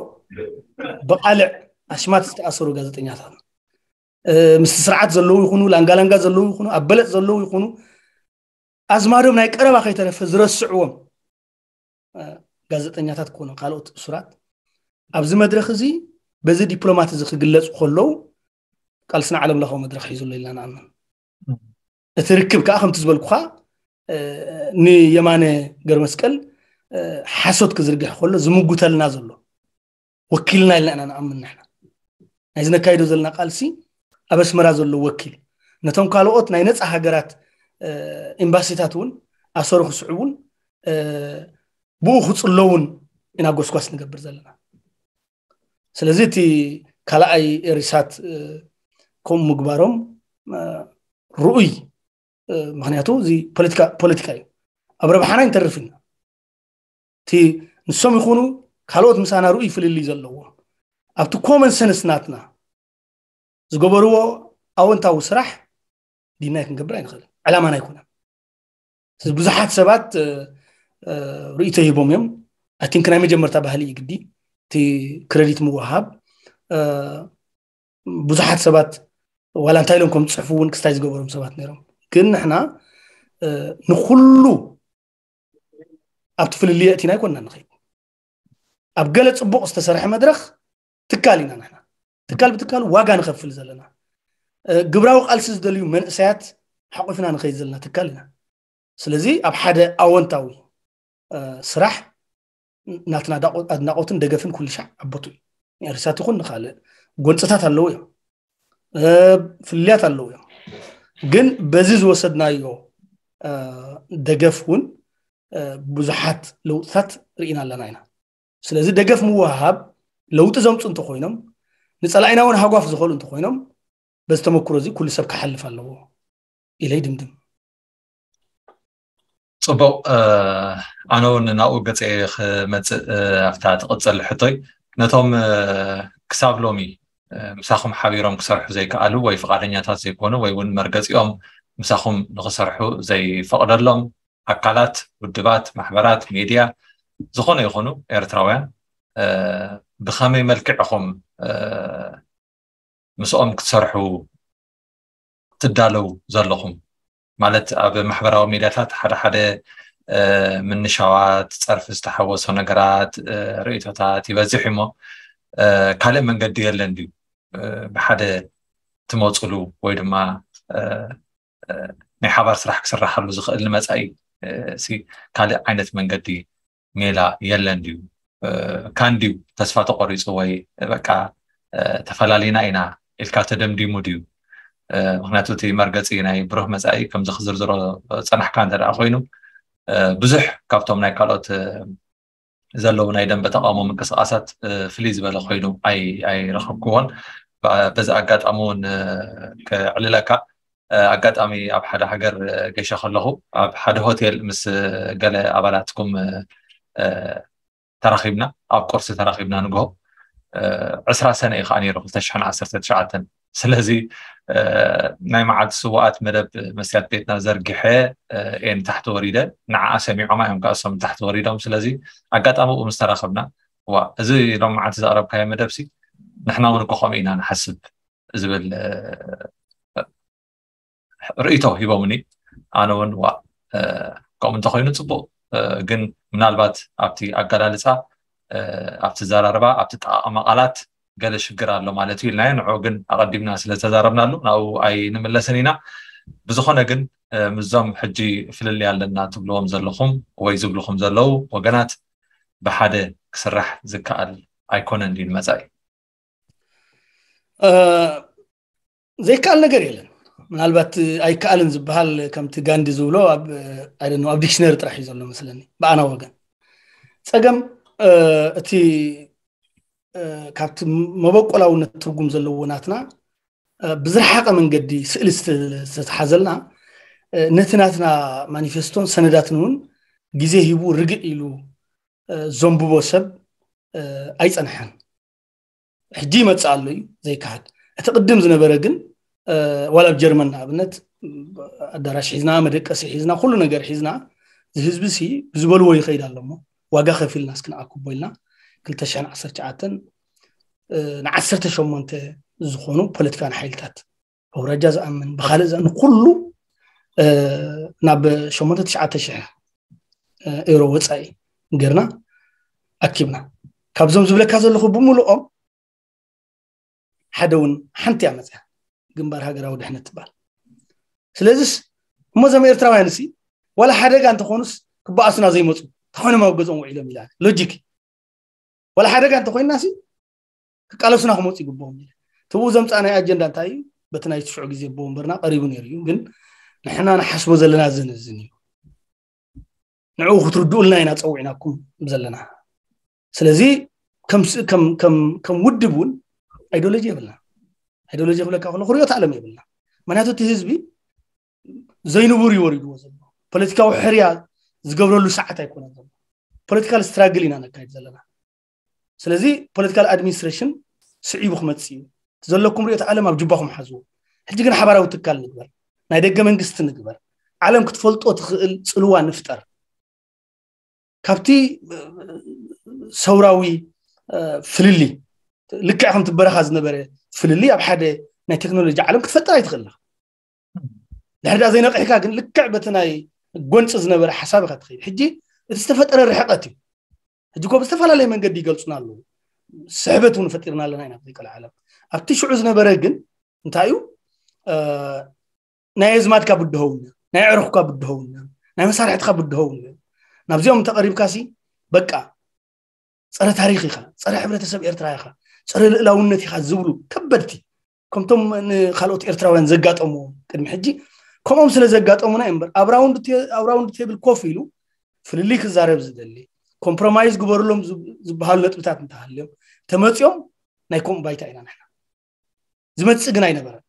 ብቃልዕ ኣሽማት ዝተኣሰሩ ጋዜጠኛታት፣ ምስቲ ስርዓት ዘለዉ ይኹኑ፣ ላንጋላንጋ ዘለዉ ይኹኑ፣ ኣብ በለፅ ዘለዉ ይኹኑ፣ ኣዝማዶም ናይ ቀረባ ከይተረፈ ዝረስዕዎም ጋዜጠኛታት ክኾኑ፣ ካልኦት እሱራት ኣብዚ መድረኽ እዚ በዚ ዲፕሎማት እዚ ክግለፁ ከለዉ ቃልስና ዓለም ለኻዊ መድረኽ ሒዙ ኣሎ ኢልና ንኣምን። እቲ ርክብ ከዓ ከምቲ ዝበልኩኻ ንየማነ ገርመስቀል ሓሶት ክዝርግሕ ከሎ ዝምጉተልና ዘሎ ወኪልና ኢልና ኢና ንኣምን። ንሕና ናይ ዝነካይዶ ዘለና ቃልሲ ኣብ ኣስመራ ዘሎ ወኪል ነቶም ካልኦት ናይ ነፃ ሃገራት ኤምባሲታት እውን ኣሰሩ ክስዕቡን ብኡ ክፅለውን ኢና ጎስጓስ ንገብር ዘለና። ስለዚ እቲ ካልኣይ ኤሪሳት ከምኡ ምግባሮም ርኡይ፣ ምክንያቱ እዚ ፖለቲካ እዩ። ኣብ ረብሓና ይንተርፍ ኢና። እቲ ንሶም ይኹኑ ካልኦት ምሳና ርኡይ ፍልልይ ዘለዎም ኣብቲ ኮመን ሰንስ ናትና ዝገበርዎ ኣወንታዊ ስራሕ ዲናይ ክንገብር ኣይንኽእልን። ዕላማና ኣይኮነን። ብዙሓት ሰባት ርእይቶ ሂቦም እዮም። ኣይ ቲንክ ናይ መጀመርታ ባህሊ እዩ ግዲ እቲ ክረዲት ምውሃብ። ብዙሓት ሰባት ዋላ እንታይ ኢሎም ከም ዝፅሕፉ እውን ክስታይ ዝገበሮም ሰባት ነይሮም። ግን ንሕና ንኩሉ ኣብቲ ፍልልይ ኣእቲና ኣይኮንና ንኸይድ። ኣብ ገለ ፅቡቕ ዝተሰርሐ መድረኽ ትካል ኢና ንሕና። ትካል ብትካሉ ዋጋ ንኸፍል ዘለና፣ ግብራዊ ቃልሲ ዝደልዩ መንእሰያት ሓቑፍና ንኸይድ ዘለና ትካል ኢና። ስለዚ ኣብ ሓደ ኣወንታዊ ስራሕ ናትና ኣድናቖትን ደገፍን ኩሉ ሻዕ ኣቦቱ እዩ። ንኤሪሳት ይኹን ንኻልእ ጎንፅታት ኣለዉ እዮም፣ ፍልልያት ኣለዉ እዮም። ግን በዚ ዝወሰድናዮ ደገፍ እውን ብዙሓት ለውጥታት ርኢና ኣለና ኢና። ስለዚ ደገፍ ምውሃብ ለውጢ ዘምፁ እንተኮይኖም፣ ንፀላኢና እውን ሃጓፍ ዝኸሉ እንተኮይኖም፣ በዚ ተመክሮ እዚ ኩሉ ሰብ ክሓልፍ ኣለዎ ኢለ ይድምድም። ፅቡቕ። ኣነ እውን ናብኡ ገፀ ክመፅእ ኣብታ ትቕፅል ሕቶይ፣ ነቶም ክሳብ ሎሚ ምሳኹም ሓቢሮም ክሰርሑ ዘይከኣሉ ወይ ፍቓደኛታት ዘይኮኑ ወይ እውን መርገፂኦም ምሳኹም ንኽሰርሑ ዘይፈቕደሎም ኣካላት፣ ውድባት፣ ማሕበራት፣ ሜድያ ዝኾነ ይኹኑ ኤርትራውያን ብኸመይ መልክዕ ኢኹም ምስኦም ክትሰርሑ ትዳለው ዘለኹም? ማለት ኣብ ማሕበራዊ ሚድያታት ሓደ ሓደ ምንሻዋት፣ ፀርፊ ዝተሓወሶ ነገራት፣ ርእይቶታት ይበዝሕ እሞ ካልእ መንገዲ የለን ድዩ ብሓደ ትመፅሉ ወይ ድማ ናይ ሓባር ስራሕ ክስራሓሉ ዝኽእል ንመፃኢ ካልእ ዓይነት መንገዲ ሜላ የለን ድዩ? ካንድዩ ተስፋ ተቆሪፁ ወይ በቃ ተፈላሊና ኢና ኢልካ ተደምዲሙ ድዩ? ምክንያቱ እቲ መርገፂ ናይ ብሩህ መፃኢ ከምዚ ክዝርዝሮ ፀናሕካ እንተ ደኣ ኮይኑ ብዙሕ ካብቶም ናይ ካልኦት ዘለዉ ናይ ደንበ ተቃውሞ ምንቅስቃሳት ፍልይ ዝበለ ኮይኑ ኣይረኸብክዎን። በዚ ኣጋጣሚ እውን ክዕልለካ፣ ኣጋጣሚ ኣብ ሓደ ሃገር ገይሸ ከለኹ ኣብ ሓደ ሆቴል ምስ ገለ ኣባላትኩም ተራኺብና፣ ኣብ ቁርሲ ተራኺብና ንግሆ ዕስራ ሰነ እዩ ከዓ ነይሩ ክልተ ሽሕን ዓሰርተ ትሽዓተን። ስለዚ ናይ መዓልቲ ስውኣት መደብ መስትያት ቤትና ዘርጊሐ እየ ንታሕቲ ወሪደ። ንዓኣ ሰሚዖማ እዮም ከዓ እሶም ንታሕቲ ወሪዶም። ስለዚ ኣጋጣሚ ብኡ ምስ ተራኸብና፣ ዋ፣ እዚ ሎም መዓልቲ ዘቕረብካዮ መደብ ሲ ንሕና እውን እኮ ከምኡ ኢና ንሓስብ ዝብል ርእይቶ ሂቦምኒ። ኣነ እውን ዋ፣ ከምኡ እንተኮይኑ ፅቡቕ፣ ግን ምናልባት ኣብቲ ኣገላልፃ፣ ኣብቲ ዘራርባ፣ ኣብቲ ጠቃቅማ ቃላት ገለ ሽግር ኣሎ ማለት እዩ ኢልናዮ። ንዑ ግን ኣቐዲምና ስለ ዝተዛረብናሉ ናብኡ ኣይንምለስን ኢና። ብዝኾነ ግን ምስዞም ሕጂ ፍልልይ ኣለና ትብልዎም ዘለኹም ወይ ዝብልኹም ዘለዉ ወገናት ብሓደ ክስራሕ ዝከኣል ኣይኮነን ድዩ ንመፃኢ? ዘይከኣል ነገር የለን። ምናልባት ኣይከኣልን ዝበሃል ከምቲ ጋንዲ ዝብሎ ኣብ ዲክሽነሪ ጥራሕ እዩ ዘሎ መስለኒ። ብኣና ወገን ፀገም እቲ ካብቲ መበቆላውነት ትርጉም ዘለዎ ናትና ብዝረሓቐ መንገዲ ስእሊ ዝተተሓዘልና ነቲ ናትና ማኒፌስቶን ሰነዳትን እውን ግዜ ሂቡ ርግእ ኢሉ ዘንብቦ ሰብ ኣይጸንሐን። ሕጂ ይመጽእ ኣሎ እዩ ዘይከሓድ። እቲ ቅድም ዝነበረ ግን ዋላ ኣብ ጀርመን ንኣብነት ኣዳራሽ ሒዝና፣ መደቀሲ ሒዝና፣ ኩሉ ነገር ሒዝና፣ እዚ ህዝቢ ሲ ብዝበልዎ ይኸይድ ኣሎ እሞ ዋጋ ከፊልና እስኪ ንኣክቦ ኢልና ክልተ ሽሕን ዓሰርተ ትሽዓተን ንዓሰርተ ሸሞንተ ዝኾኑ ፖለቲካን ሓይልታት ኣውራጃ ዝኣምን ብኻልእ ዝኣምን ኩሉ ናብ ሸሞንተ ትሽዓተ ሽሕ ኤሮ ወፃኢ ገርና ኣኪብና። ካብዞም ዝብለካ ዘለኹ ብምልኦም ሓደ እውን ሓንቲ እያ መፅያ፣ ግንባር ሃገራዊ ድሕነት ትበሃል። ስለዚስ እሞ እዞም ኤርትራውያን ሲ ዋላ ሓደጋ እንተኾኑስ ክበኣሱና ዘይመፁ ተኾይኖም ኣብ ገዝኦም ውዒሎም ኢላ ሎጂክ ዋላ ሓደጋ እንተኮይና ሲ ክቃለሱና ክመፁ ይግብኦም ኢለ። ትብኡ ዘምፃእናይ ኣጀንዳ እንታይ እዩ? በቲ ናይ ትሽዑ ግዜ ኣቦ ወንበርና ቀሪቡ ነይሩ እዩ። ግን ንሕና ንሓስቦ ዘለና ዝን ዝን እዩ። ንዕኡ ክትርድኡልና ኢና ፀዊዕናኩም ዘለና። ስለዚ ከም ውድብ እውን ኣይዲዮሎጂ የብልና። ኣይዲዮሎጂ ክብለካ ከሎ ክሪኦት ዓለም የብልና። ምክንያቱ እቲ ህዝቢ ዘይንቡር እዩ ወሪድዎ ዘሎ። ፖለቲካዊ ሕርያ ዝገብረሉ ሰዓት ኣይኮነን ዘሎ። ፖለቲካል ስትራግል ኢና ነካይድ ዘለና። ስለዚ ፖለቲካል ኣድሚኒስትሬሽን ስዒቡ ክመፅእ እዩ። ዘለኩም ሪኦት ዓለም ኣብ ጅባኹም ሓዝዎ። ሕጂ ግን ሓባራዊ ትካል ንግበር፣ ናይ ደገ መንግስቲ ንግበር፣ ዓለም ክትፈልጦ ትኽእል ፅልዋ ንፍጠር። ካብቲ ሰውራዊ ፍልሊ ልክዕ ከምቲ በረኻ ዝነበረ ፍልሊ ኣብ ሓደ ናይ ቴክኖሎጂ ዓለም ክትፈጥር ኣይትኽእል። ድሕሪ ዳ ዘይነቂሕካ ግን ልክዕ በቲ ናይ ጎንፂ ዝነበረ ሓሳብ ኢካ ትኸይድ። ሕጂ እቲ ዝተፈጠረ ርሕቀት እዩ። ሕጂ ኮ ብዝተፈላለየ መንገዲ ይገልፁና ኣለዉ። ስሕበት እውን ፈጢርና ኣለና ኢና ዘይቀለ ዓለም ኣብቲ ሽዑ ዝነበረ ግን እንታይ እዩ? ናይ ኣዝማድካ ብድሆውነ፣ ናይ ዕርኽካ ብድሆውነ፣ ናይ መሳርሕትካ ብድሆውነ። ናብዚኦም እንተቐሪብካ ሲ በቃ ፀረ ታሪኽ ኢኻ፣ ፀረ ሕብረተሰብ ኤርትራ ኢኻ፣ ፀረ ልእላውነት ኢኻ ዝብሉ ከበድቲ ከምቶም ንካልኦት ኤርትራውያን ዘጋጠምዎም ቅድሚ ሕጂ ከምኦም ስለ ዘጋጠሙና እዩ እምበር ኣብ ራውንድ ቴብል ኮፍ ኢሉ ፍልልይ ክዛረብ ዝደሊ ኮምፕሮማይዝ ግበርሎም ዝበሃሉ ነጥብታት እንተሃልዮም ተመፅኦም ናይ ከምኡ ባይታ ኢና ንሕና። ዝመፅእ ግን ኣይነበረን።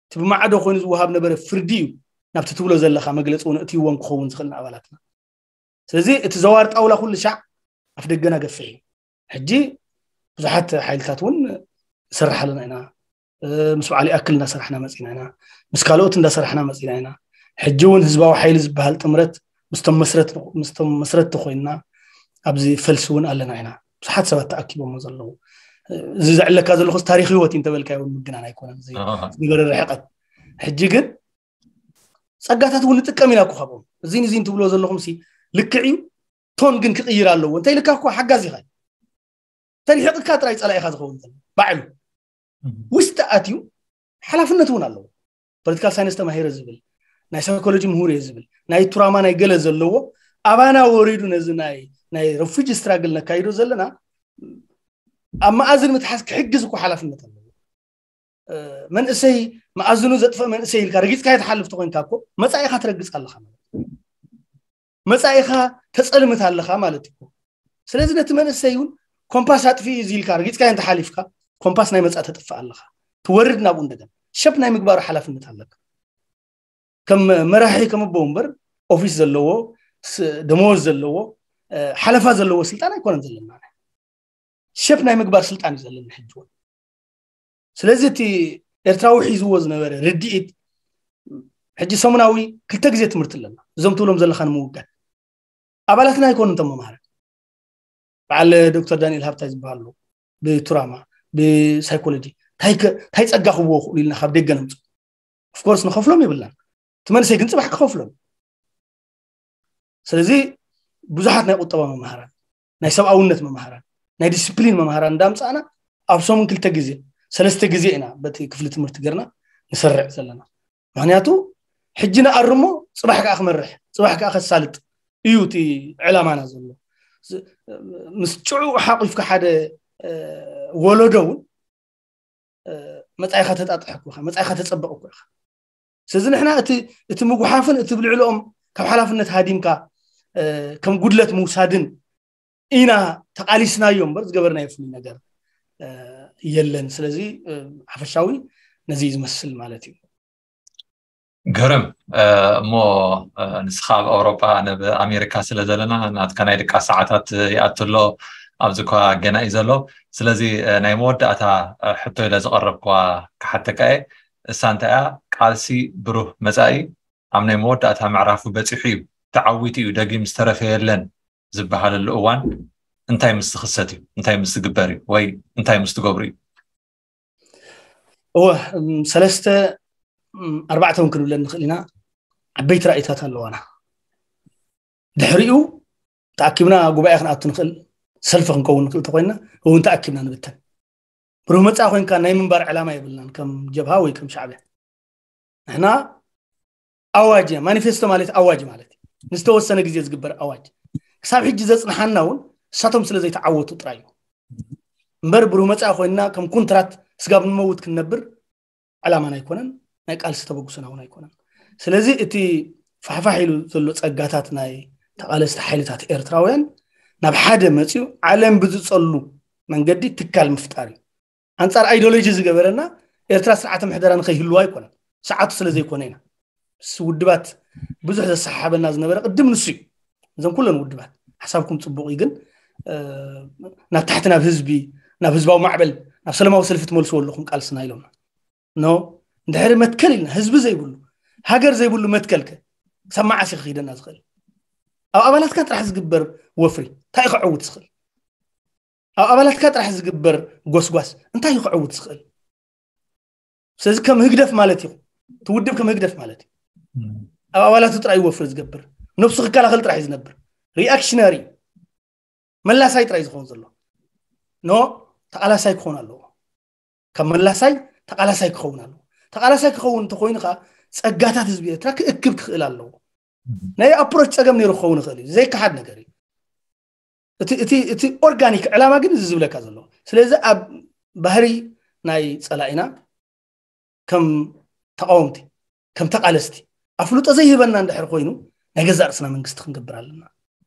እቲ ብማዕዶ ኮይኑ ዝወሃብ ነበረ ፍርዲ እዩ ናብቲ ትብሎ ዘለካ መግለፂ እውን እትይዎም ክኸውን ዝኽእል ንኣባላትና። ስለዚ እቲ ዘዋር ጣውላ ኩሉ ሻዕ ኣፍ ደገና ገፍሕ እዩ። ሕጂ ብዙሓት ሓይልታት እውን ንሰርሕ ኣለና ኢና። ምስ በዓል ይኣክል እንዳሰራሕና መፂና ኢና። ምስ ካልኦት እንዳሰራሕና መፂና ኢና። ሕጂ እውን ህዝባዊ ሓይሊ ዝበሃል ጥምረት ምስቶም መስረትቲ ኮይንና ኣብዚ ፈልሲ እውን ኣለና ኢና። ብዙሓት ሰባት ተኣኪቦሞ ዘለዉ። እዚ ዘዕለካ ዘለኹስ ታሪክ ህይወት እዩ እንተበልካዮ እውን ምግናን ኣይኮነን። ዝነበረ ርሕቀት ሕጂ ግን ፀጋታት እውን ንጥቀም ኢና እኮ ካብኦም። እዚን እዚን ትብሎ ዘለኹም ሲ ልክዕ እዩ። ቶን ግን ክቕይር ኣለዎ። እንታይ ኢልካ እኮ ሓጋዝ ኢኻ። ተሪሕቕካ ጥራይ ፀላኢኻ ዝኸውን ዘሎ ባዕሉ ውስጢ ኣትዩ ሓላፍነት እውን ኣለዎ። ፖለቲካል ሳይንስ ተማሂረ ዝብል ናይ ሳይኮሎጂ ምሁር እየ ዝብል ናይ ቱራማ ናይ ገለ ዘለዎ ኣባና ወሪዱ ነዚ ናይ ናይ ረፉጂ ስትራግል ነካይዶ ዘለና ኣብ መኣዝን ምትሓዝ ክሕግዝ እኮ ሓላፍነት ኣለዎ። መንእሰይ መኣዝኑ ዘጥፍእ መንእሰይ ኢልካ ረጊፅካ የተሓልፍ ተኮይንካ እኮ መፃኢኻ ትረግፅ ኣለካ ማለት እዩ። መፃኢኻ ተፀልምት ኣለካ ማለት እዩ። ስለዚ ነቲ መንእሰይ እውን ኮምፓስ ኣጥፊ እዚ ኢልካ ረጊፅካ እንተሓሊፍካ ኮምፓስ ናይ መፃእ ተጥፍእ ኣለካ። ትወርድ ናብኡ እንደገና ሸፕ ናይ ምግባሩ ሓላፍነት ኣለካ። ከም መራሒ ከም ኣቦ እምበር ኦፊስ ዘለዎ ደመወዝ ዘለዎ ሓለፋ ዘለዎ ስልጣን ኣይኮነን ዘለና። ሸፕ ናይ ምግባር ስልጣን እዩ ዘለና ሕጂ እውን። ስለዚ እቲ ኤርትራዊ ሒዝዎ ዝነበረ ርድኢት ሕጂ ሰሙናዊ ክልተ ግዜ ትምህርቲ ኣለና። እዞም ትብሎም ዘለካ ንምውጋድ ኣባላትና ኣይኮኑ እቶም መምሃራን። በዓል ዶክተር ዳንኤል ሃብታይ ዝበሃሉ ብቱራማ ብሳይኮሎጂ እንታይ ጸጋ ክብዎ ክእሉ ኢልና ካብ ደገ ነምፁ። ኦፍኮርስ ንኸፍሎም የብልናን። እቲ መንእሰይ ግን ፅባሕ ክኸፍሎም። ስለዚ ብዙሓት ናይ ቁጠባ መምሃራን፣ ናይ ሰብኣውነት መምሃራን፣ ናይ ዲስፕሊን መምሃራን እንዳምፃእና ኣብ ሰሙን ክልተ ግዜ ሰለስተ ግዜ ኢና በቲ ክፍሊ ትምህርቲ ገርና ንሰርዕ ዘለና። ምክንያቱ ሕጂ ንኣርሞ ፅባሕ ከዓ ክመርሕ ፅባሕ ከዓ ከሳልጥ እዩ እቲ ዕላማና ዘሎ። ምስ ጭዑ ሓቂፍካ ሓደ ወለዶ እውን መፃኢኻ ተጣጥሕ እኮ ኢኻ፣ መፃኢኻ ተፀበቕ እኮ ኢኻ። ስለዚ ንሕና እቲ እቲ ምጉሓፍን እቲ ብልዕልኦም ካብ ሓላፍነት ሃዲምካ ከም ጉድለት ምውሳድን ኢና ተቃሊስናዮ እምበር ዝገበርናዮ ፍሉይ ነገር የለን። ስለዚ ሓፈሻዊ ነዚ እዩ ዝመስል ማለት እዩ። ግርም። እሞ ንስኻ ኣብ ኣውሮጳ፣ ኣነ ኣብ ኣሜሪካ ስለ ዘለና፣ ናትካ ናይ ድቃስ ሰዓታት ይኣቱ ኣሎ። ኣብዚ እኳ ገና እዩ ዘሎ። ስለዚ ናይ መወዳእታ ሕቶ ኢለ ዝቐረብኳ ክሓተካ እየ። እሳ እንታይ እያ? ቃልሲ ብሩህ መጻኢ ኣብ ናይ መወዳእታ ምዕራፉ በጺሑ እዩ፣ ተዓዊቱ እዩ፣ ደጊም ዝተረፈ የለን ዝበሃለሉ እዋን እንታይ ምስ ዝኽሰት እዩ? እንታይ ምስ ዝግበር እዩ? ወይ እንታይ ምስ ትገብሩ እዩ? እወ፣ ሰለስተ ኣርባዕተ እውን ክንብለን ንኽእል ኢና። ዓበይቲ ራእይታት ኣለዋና። ድሕሪኡ ተኣኪብና ጉባኤ ክንኣቱ ንኽእል፣ ሰልፊ ክንከውን ንኽእል ተኮይና እውን ተኣኪብና ንብተን። ብሩህ መጻኢ ኮይንካ ናይ ምንባር ዕላማ የብልናን ከም ጀብሃ ወይ ከም ሻዕብያ። ንሕና ኣዋጅ እያ። ማኒፌስቶ ማለት ኣዋጅ ማለት እዩ። ንዝተወሰነ ግዜ ዝግበር ኣዋጅ። ክሳብ ሕጂ ዘጽንሓና እውን እሳቶም ስለ ዘይተዓወቱ ጥራይ እዩ። እምበር ብሩህ መጻኢ ኮይንና ከም ኩንትራት ስጋብ ንመውት ክንነብር ዕላማና ኣይኮነን፣ ናይ ቃልሲ ተበግሶና እውን ኣይኮነን። ስለዚ እቲ ፋሕፋሕ ኢሉ ዘሎ ጸጋታት ናይ ተቓለስቲ ሓይልታት ኤርትራውያን ናብ ሓደ መጺኡ ዓለም ብዝጸሉ መንገዲ ትካል ምፍጣር እዩ። ኣንጻር ኣይዲዮሎጂ ዝገበረና ኤርትራ ስርዓተ ምሕደራ ንኸይህልዋ ኣይኮነን፣ ሰዓቱ ስለ ዘይኮነ ኢና። ምስ ውድባት ብዙሕ ዘሰሓሓበና ዝነበረ ቅድም ንሱ እዩ። እዞም ኩለን ውድባት ሓሳብኩም ጽቡቕ እዩ፣ ግን ናብ ታሕቲ ናብ ህዝቢ፣ ናብ ህዝባዊ ማዕበል፣ ናብ ሰለማዊ ሰልፊ ትመልስዎ ኣለኹም ቃልስና ኢሎምና። ኖ፣ እንድሕሪ መትከል ኢልና ህዝቢ ዘይብሉ፣ ሃገር ዘይብሉ መትከልከ ክሳብ መዓስ እዩ ክኸይደና ዝኽእል? ኣብ ኣባላትካ ጥራሕ ዝግበር ወፍሪ እንታይ እዩ ክዕውት ዝኽእል? ኣብ ኣባላትካ ጥራሕ ዝግበር ጎስጓስ እንታይ እዩ ክዕውት ዝኽእል? ስለዚ ከም ህግደፍ ማለት እዩ፣ እቲ ውድብ ከም ህግደፍ ማለት እዩ። ኣብ ኣባላቱ ጥራይ እዩ ወፍሪ ዝገብር፣ ነብሱ ክከላኸል ጥራሕ እዩ ዝነብር። ሪኣክሽነሪ፣ መላሳይ ጥራይ ዝኸውን ዘሎ። ኖ፣ ተቓላሳይ ክኸውን ኣለዎ። ካብ መላሳይ ተቓላሳይ ክኸውን ኣለዎ። ተቓላሳይ ክኸውን እንተኮይኑ ከዓ ጸጋታት ህዝቢ ኤርትራ ክእክብ ክኽእል ኣለዎ። ናይ ኣፕሮች ጸገም ነይሩ ክኸውን ይኽእል እዩ፣ ዘይከሓድ ነገር እዩ። እቲ ኦርጋኒክ ዕላማ ግን እዚ ዝብለካ ዘሎ። ስለዚ ኣብ ባህሪ ናይ ጸላኢና ከም ተቃወምቲ፣ ከም ተቃለስቲ ኣፍልጦ ዘይህበና እንድሕር ኮይኑ፣ ናይ ገዛእ ርእስና መንግስቲ ክንገብር ኣለና።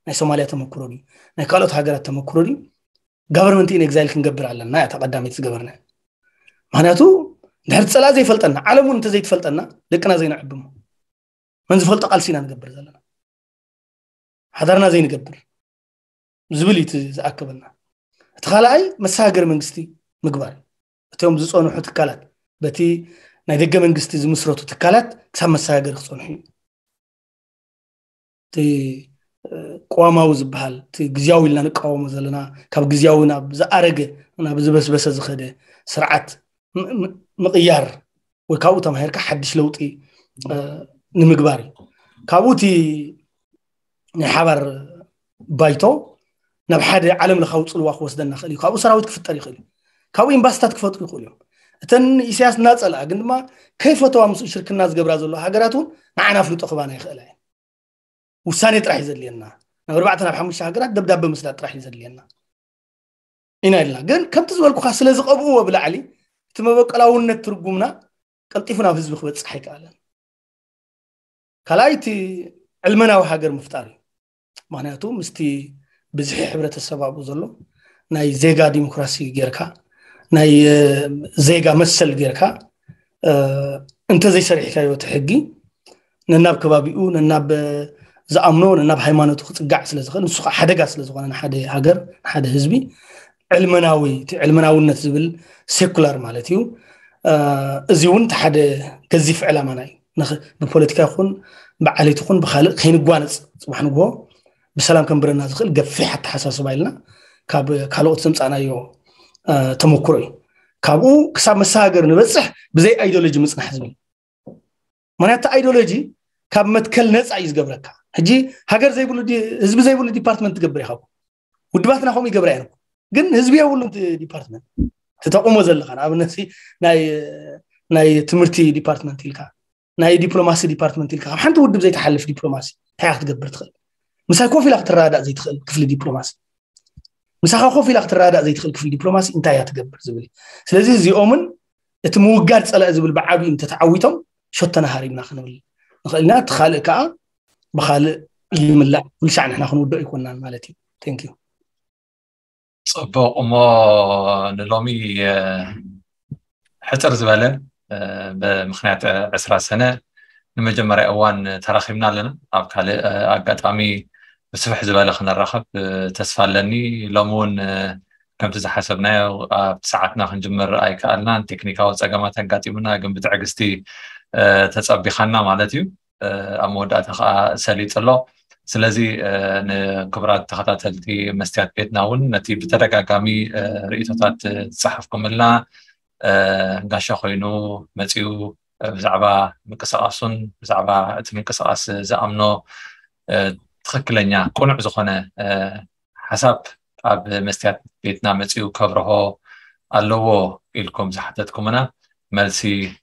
ናይ ሶማልያ ተመክሮ ድዩ፣ ናይ ካልኦት ሃገራት ተመክሮ ድዩ፣ ጋቨርንመንት ኢን ኤግዛይል ክንገብር ኣለና እያ እታ ቀዳመይቲ ዝገበርና። ምክንያቱ እንድሕር ጸላኢ ዘይፈልጠና፣ ዓለም እውን እንተዘይትፈልጠና ደቅና ዘይነዕብሞ፣ መን ዝፈልጦ ቃልሲ ኢና ንገብር ዘለና፣ ሓዳርና ዘይንገብር ዝብል እዩ እቲ ዝኣከበና። እቲ ካልኣይ መሰጋገሪ መንግስቲ ምግባር እዩ። እቶም ዝጸንሑ ትካላት፣ በቲ ናይ ደገ መንግስቲ ዝምስረቱ ትካላት ክሳብ መሰጋገሪ ክጸንሑ እዩ። እቲ ቅዋማዊ ዝበሃል፣ እቲ ግዝያዊ ኢልና ንቃወሞ ዘለና፣ ካብ ግዝያዊ ናብ ዝኣረገ፣ ናብ ዝበስበሰ ዝኸደ ስርዓት ምቕያር ወይ ካብኡ ተማሂርካ ሓድሽ ለውጢ ንምግባር እዩ። ካብኡ እቲ ናይ ሓባር ባይቶ ናብ ሓደ ዓለም ለኻዊ ጽልዋ ክወስደና ይኽእል እዩ። ካብኡ ሰራዊት ክፍጠር ይኽእል እዩ። ካብኡ ኤምባስታት ክፈጥሩ ይኽእሉ እዮም። እተን ኢሳያስ እናጸልኣ ግን ድማ ከይፈተዋ ምስኡ ሽርክና ዝገብራ ዘሎ ሃገራት እውን ንዓና ኣፍልጦ ክባና ይኽእላ እየን። ውሳኔ ጥራሕ እዩ ዘድልየና። ናብ ኣርባዕተ ናብ ሓሙሽተ ሃገራት ደብዳበ ምስዳድ ጥራሕ እዩ ዘድልየና ኢና ኢልና። ግን ከምቲ ዝበልኩኻ ስለ ዝቐብእዎ ብላዕሊ እቲ መበቀላውነት ትርጉምና ቀልጢፉ ናብ ህዝቢ ክበጽሕ ኣይከኣለን። ካልኣይ እቲ ዕልመናዊ ሃገር ምፍጣር እዩ። ምክንያቱ ምስቲ ብዝሒ ሕብረተሰብ ኣብኡ ዘሎ ናይ ዜጋ ዲሞክራሲ ጌርካ፣ ናይ ዜጋ መሰል ጌርካ እንተዘይሰሪሕካዮ እቲ ሕጊ ነናብ ከባቢኡ፣ ነናብ ዝኣምኖ፣ ነናብ ሃይማኖቱ ክጽጋዕ ስለ ዝኽእል፣ ንሱ ከዓ ሓደጋ ስለ ዝኾነ ንሓደ ሃገር፣ ንሓደ ህዝቢ፣ ዕልመናዊ፣ እቲ ዕልመናውነት ዝብል ሴኩላር ማለት እዩ። እዚ እውን እቲ ሓደ ገዚፍ ዕላማና እዩ። ብፖለቲካ ይኹን ብዓሌት ይኹን ብካልእ ከይንጓነፅ፣ ፅባሕ ንግሆ ብሰላም ከንብረና ዝኽእል ገፊሕ ኣተሓሳስባ ኢልና ካብ ካልኦት ዘምፃእናዮ ተመክሮ እዩ። ካብኡ ክሳብ መሰጋገሪ ንበፅሕ ብዘይ ኣይዲዮሎጂ ምፅናሕ ዝብል። ምክንያቱ ኣይዲዮሎጂ ካብ መትከል ነፃ እዩ ዝገብረካ። ሕጂ ሃገር ዘይብሉ፣ ህዝቢ ዘይብሉ ዲፓርትመንት ትገብር ኢኻ። ውድባትና ከምኡ ይገብራ እየን። ግን ህዝቢ የብሉን ዲፓርትመንት ትጠቕሞ ዘለኻ። ንኣብነት ናይ ትምህርቲ ዲፓርትመንት ኢልካ፣ ናይ ዲፕሎማሲ ዲፓርትመንት ኢልካ፣ ካብ ሓንቲ ውድብ ዘይትሓልፍ ዲፕሎማሲ እንታይ ክትገብር ትኽእል? ምሳይ ኮፍ ኢላ ክትረዳእ ዘይትኽእል ክፍሊ ዲፕሎማሲ፣ ምሳኻ ኮፍ ኢላ ክትረዳእ ዘይትኽእል ክፍሊ ዲፕሎማሲ እንታይ እያ ትገብር ዝብል። ስለዚ እዚኦምን እቲ ምውጋድ ፀላኢ ዝብል ብዓብዩ እንተተዓዊቶም ሸቶና ሃሪምና ክንብል ንኽእል ኢና። እቲ ካልእ ከዓ ብኻልእ ይምላእ፣ ኩሉ ሻዕ ንሕና ክንውድኦ ኣይኮናን ማለት እዩ። Thank you። ፅቡቕ። እሞ ንሎሚ ሕፅር ዝበለ ብምክንያት ዕስራ ሰነ ንመጀመርያ እዋን ተራኺብና ኣለና። ኣብ ካልእ ኣጋጣሚ ብስፍሕ ዝበለ ክንራኸብ ተስፋ ኣለኒ። ሎሚ እውን ከምቲ ዝሓሰብናዮ ኣብቲ ሰዓትና ክንጅምር ኣይከኣልናን። ቴክኒካዊ ፀገማት ኣጋጢሙና፣ ግን ብትዕግስቲ ተፀቢኻና ማለት እዩ። ኣብ መወዳእታ ከዓ ሰሊጡ ኣሎ። ስለዚ ንክቡራት ተኸታተልቲ መስትያት ቤትና እውን ነቲ ብተደጋጋሚ ርእይቶታት ዝፀሓፍኩምልና፣ ጋሻ ኮይኑ መፂኡ ብዛዕባ ምንቅስቃሱን ብዛዕባ እቲ ምንቅስቃስ ዝኣምኖ ትኽክለኛ ቅኑዕ ዝኾነ ሓሳብ ኣብ መስትያት ቤትና መፂኡ ከብርሆ ኣለዎ ኢልኩም ዝሓተትኩምና፣ መልሲ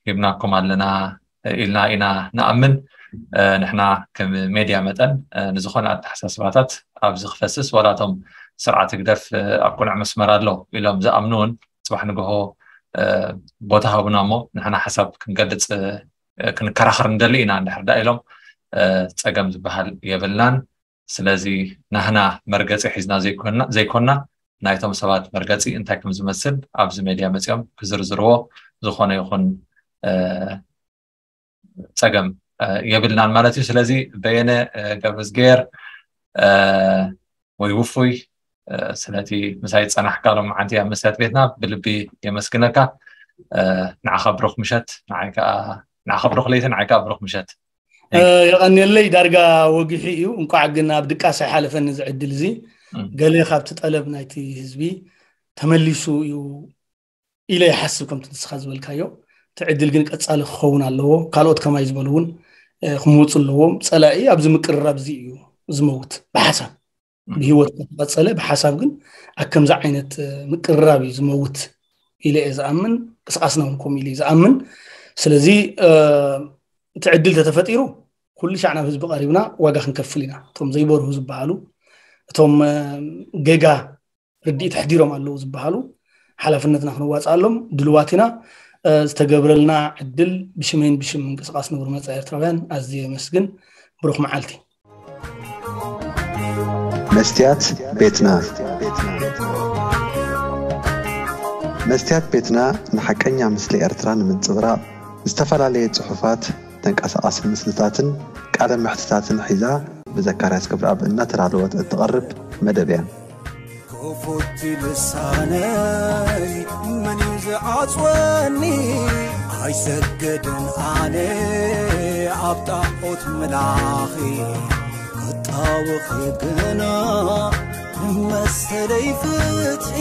ሂብናኩም ኣለና ኢልና ኢና ንኣምን። ንሕና ከም ሜድያ መጠን ንዝኾነ ኣተሓሳስባታት ኣብዚ ክፈስስ፣ ዋላቶም ስርዓት ህግደፍ ኣብ ቅኑዕ መስመር ኣሎ ኢሎም ዝኣምኑ እውን፣ ፅባሕ ንግሆ ቦታ ሃቡና እሞ ንሕና ሓሳብ ክንገልፅ ክንከራኸር እንደሊ ኢና እንድሕር ዳ ኢሎም፣ ፀገም ዝበሃል የብልናን። ስለዚ ናህና መርገፂ ሒዝና ዘይኮና ናይቶም ሰባት መርገፂ እንታይ ከም ዝመስል ኣብዚ ሜድያ መፂኦም ክዝርዝርዎ ዝኾነ ይኹን ፀገም የብልናን ማለት እዩ። ስለዚ በየነ ገብረዝጌር ወይ ውፉይ ስለቲ ምሳይ ዝፀናሕካ ሎም ዓንቲ ኣብ መስትያት ቤትና ብልቢ የመስግነካ። ንዓኻ ብሩኽ ምሸት፣ ንዓኻ ብሩኽ ለይቲ፣ ንዓኻ ብሩኽ ምሸት። የቐንየለይ። ዳርጋ ወጊሑ እዩ። እንኳዕ ግን ኣብ ድቃስ ኣይሓለፈኒ እዚ ዕድል እዚ። ገለ ካብቲ ጠለብ ናይቲ ህዝቢ ተመሊሱ እዩ ኢለ ይሓስብ። ከምቲ ንስኻ ዝበልካዮ እቲ ዕድል ግን ቀፃሊ ክኸውን ኣለዎ። ካልኦት ከማይ ዝበሉ እውን ክምውፁ ኣለዎም። ፀላኢ ኣብዚ ምቅርራብ እዚ እዩ ዝመውት። ብሓሳብ ብህይወት ከተቐፀለ ብሓሳብ ግን ኣብ ከምዚ ዓይነት ምቅርራብ እዩ ዝመውት ኢለ እየ ዝኣምን። ቅስቃስና እውን ከምኡ ኢሉ እዩ ዝኣምን። ስለዚ እቲ ዕድል ተተፈጢሩ ኩሉ ሻዕ ናብ ህዝቢ ቀሪብና ዋጋ ክንከፍል ኢና። እቶም ዘይበርሁ ዝበሃሉ፣ እቶም ጌጋ ርድኢት ኣሕዲሮም ኣለዉ ዝበሃሉ ሓላፍነትና ክንዋፅኣሎም ድልዋት ኢና። ዝተገብረልና ዕድል ብሽመይን ብሽም ምንቅስቃስ ንቡር መፃኢ ኤርትራውያን ኣዝየ የመስግን። ብሩኽ መዓልቲ። መስትያት ቤትና። መስትያት ቤትና ንሓቀኛ ምስሊ ኤርትራ ንምንጽብራቕ ዝተፈላለየ ጽሑፋት፣ ተንቀሳቓሲ ምስልታትን ቃለ መሕትታትን ሒዛ ብዘካርያስ ክብረኣብ እናተዳለወት እትቐርብ መደብ እያ። ክፉት ልሳነይ መን እዩ ዝዓጽወኒ? ኣይሰግድን ኣነ ኣብ ጣዖት ምላኺ ክጣወኺ ግና መሰለይ ፍትሒ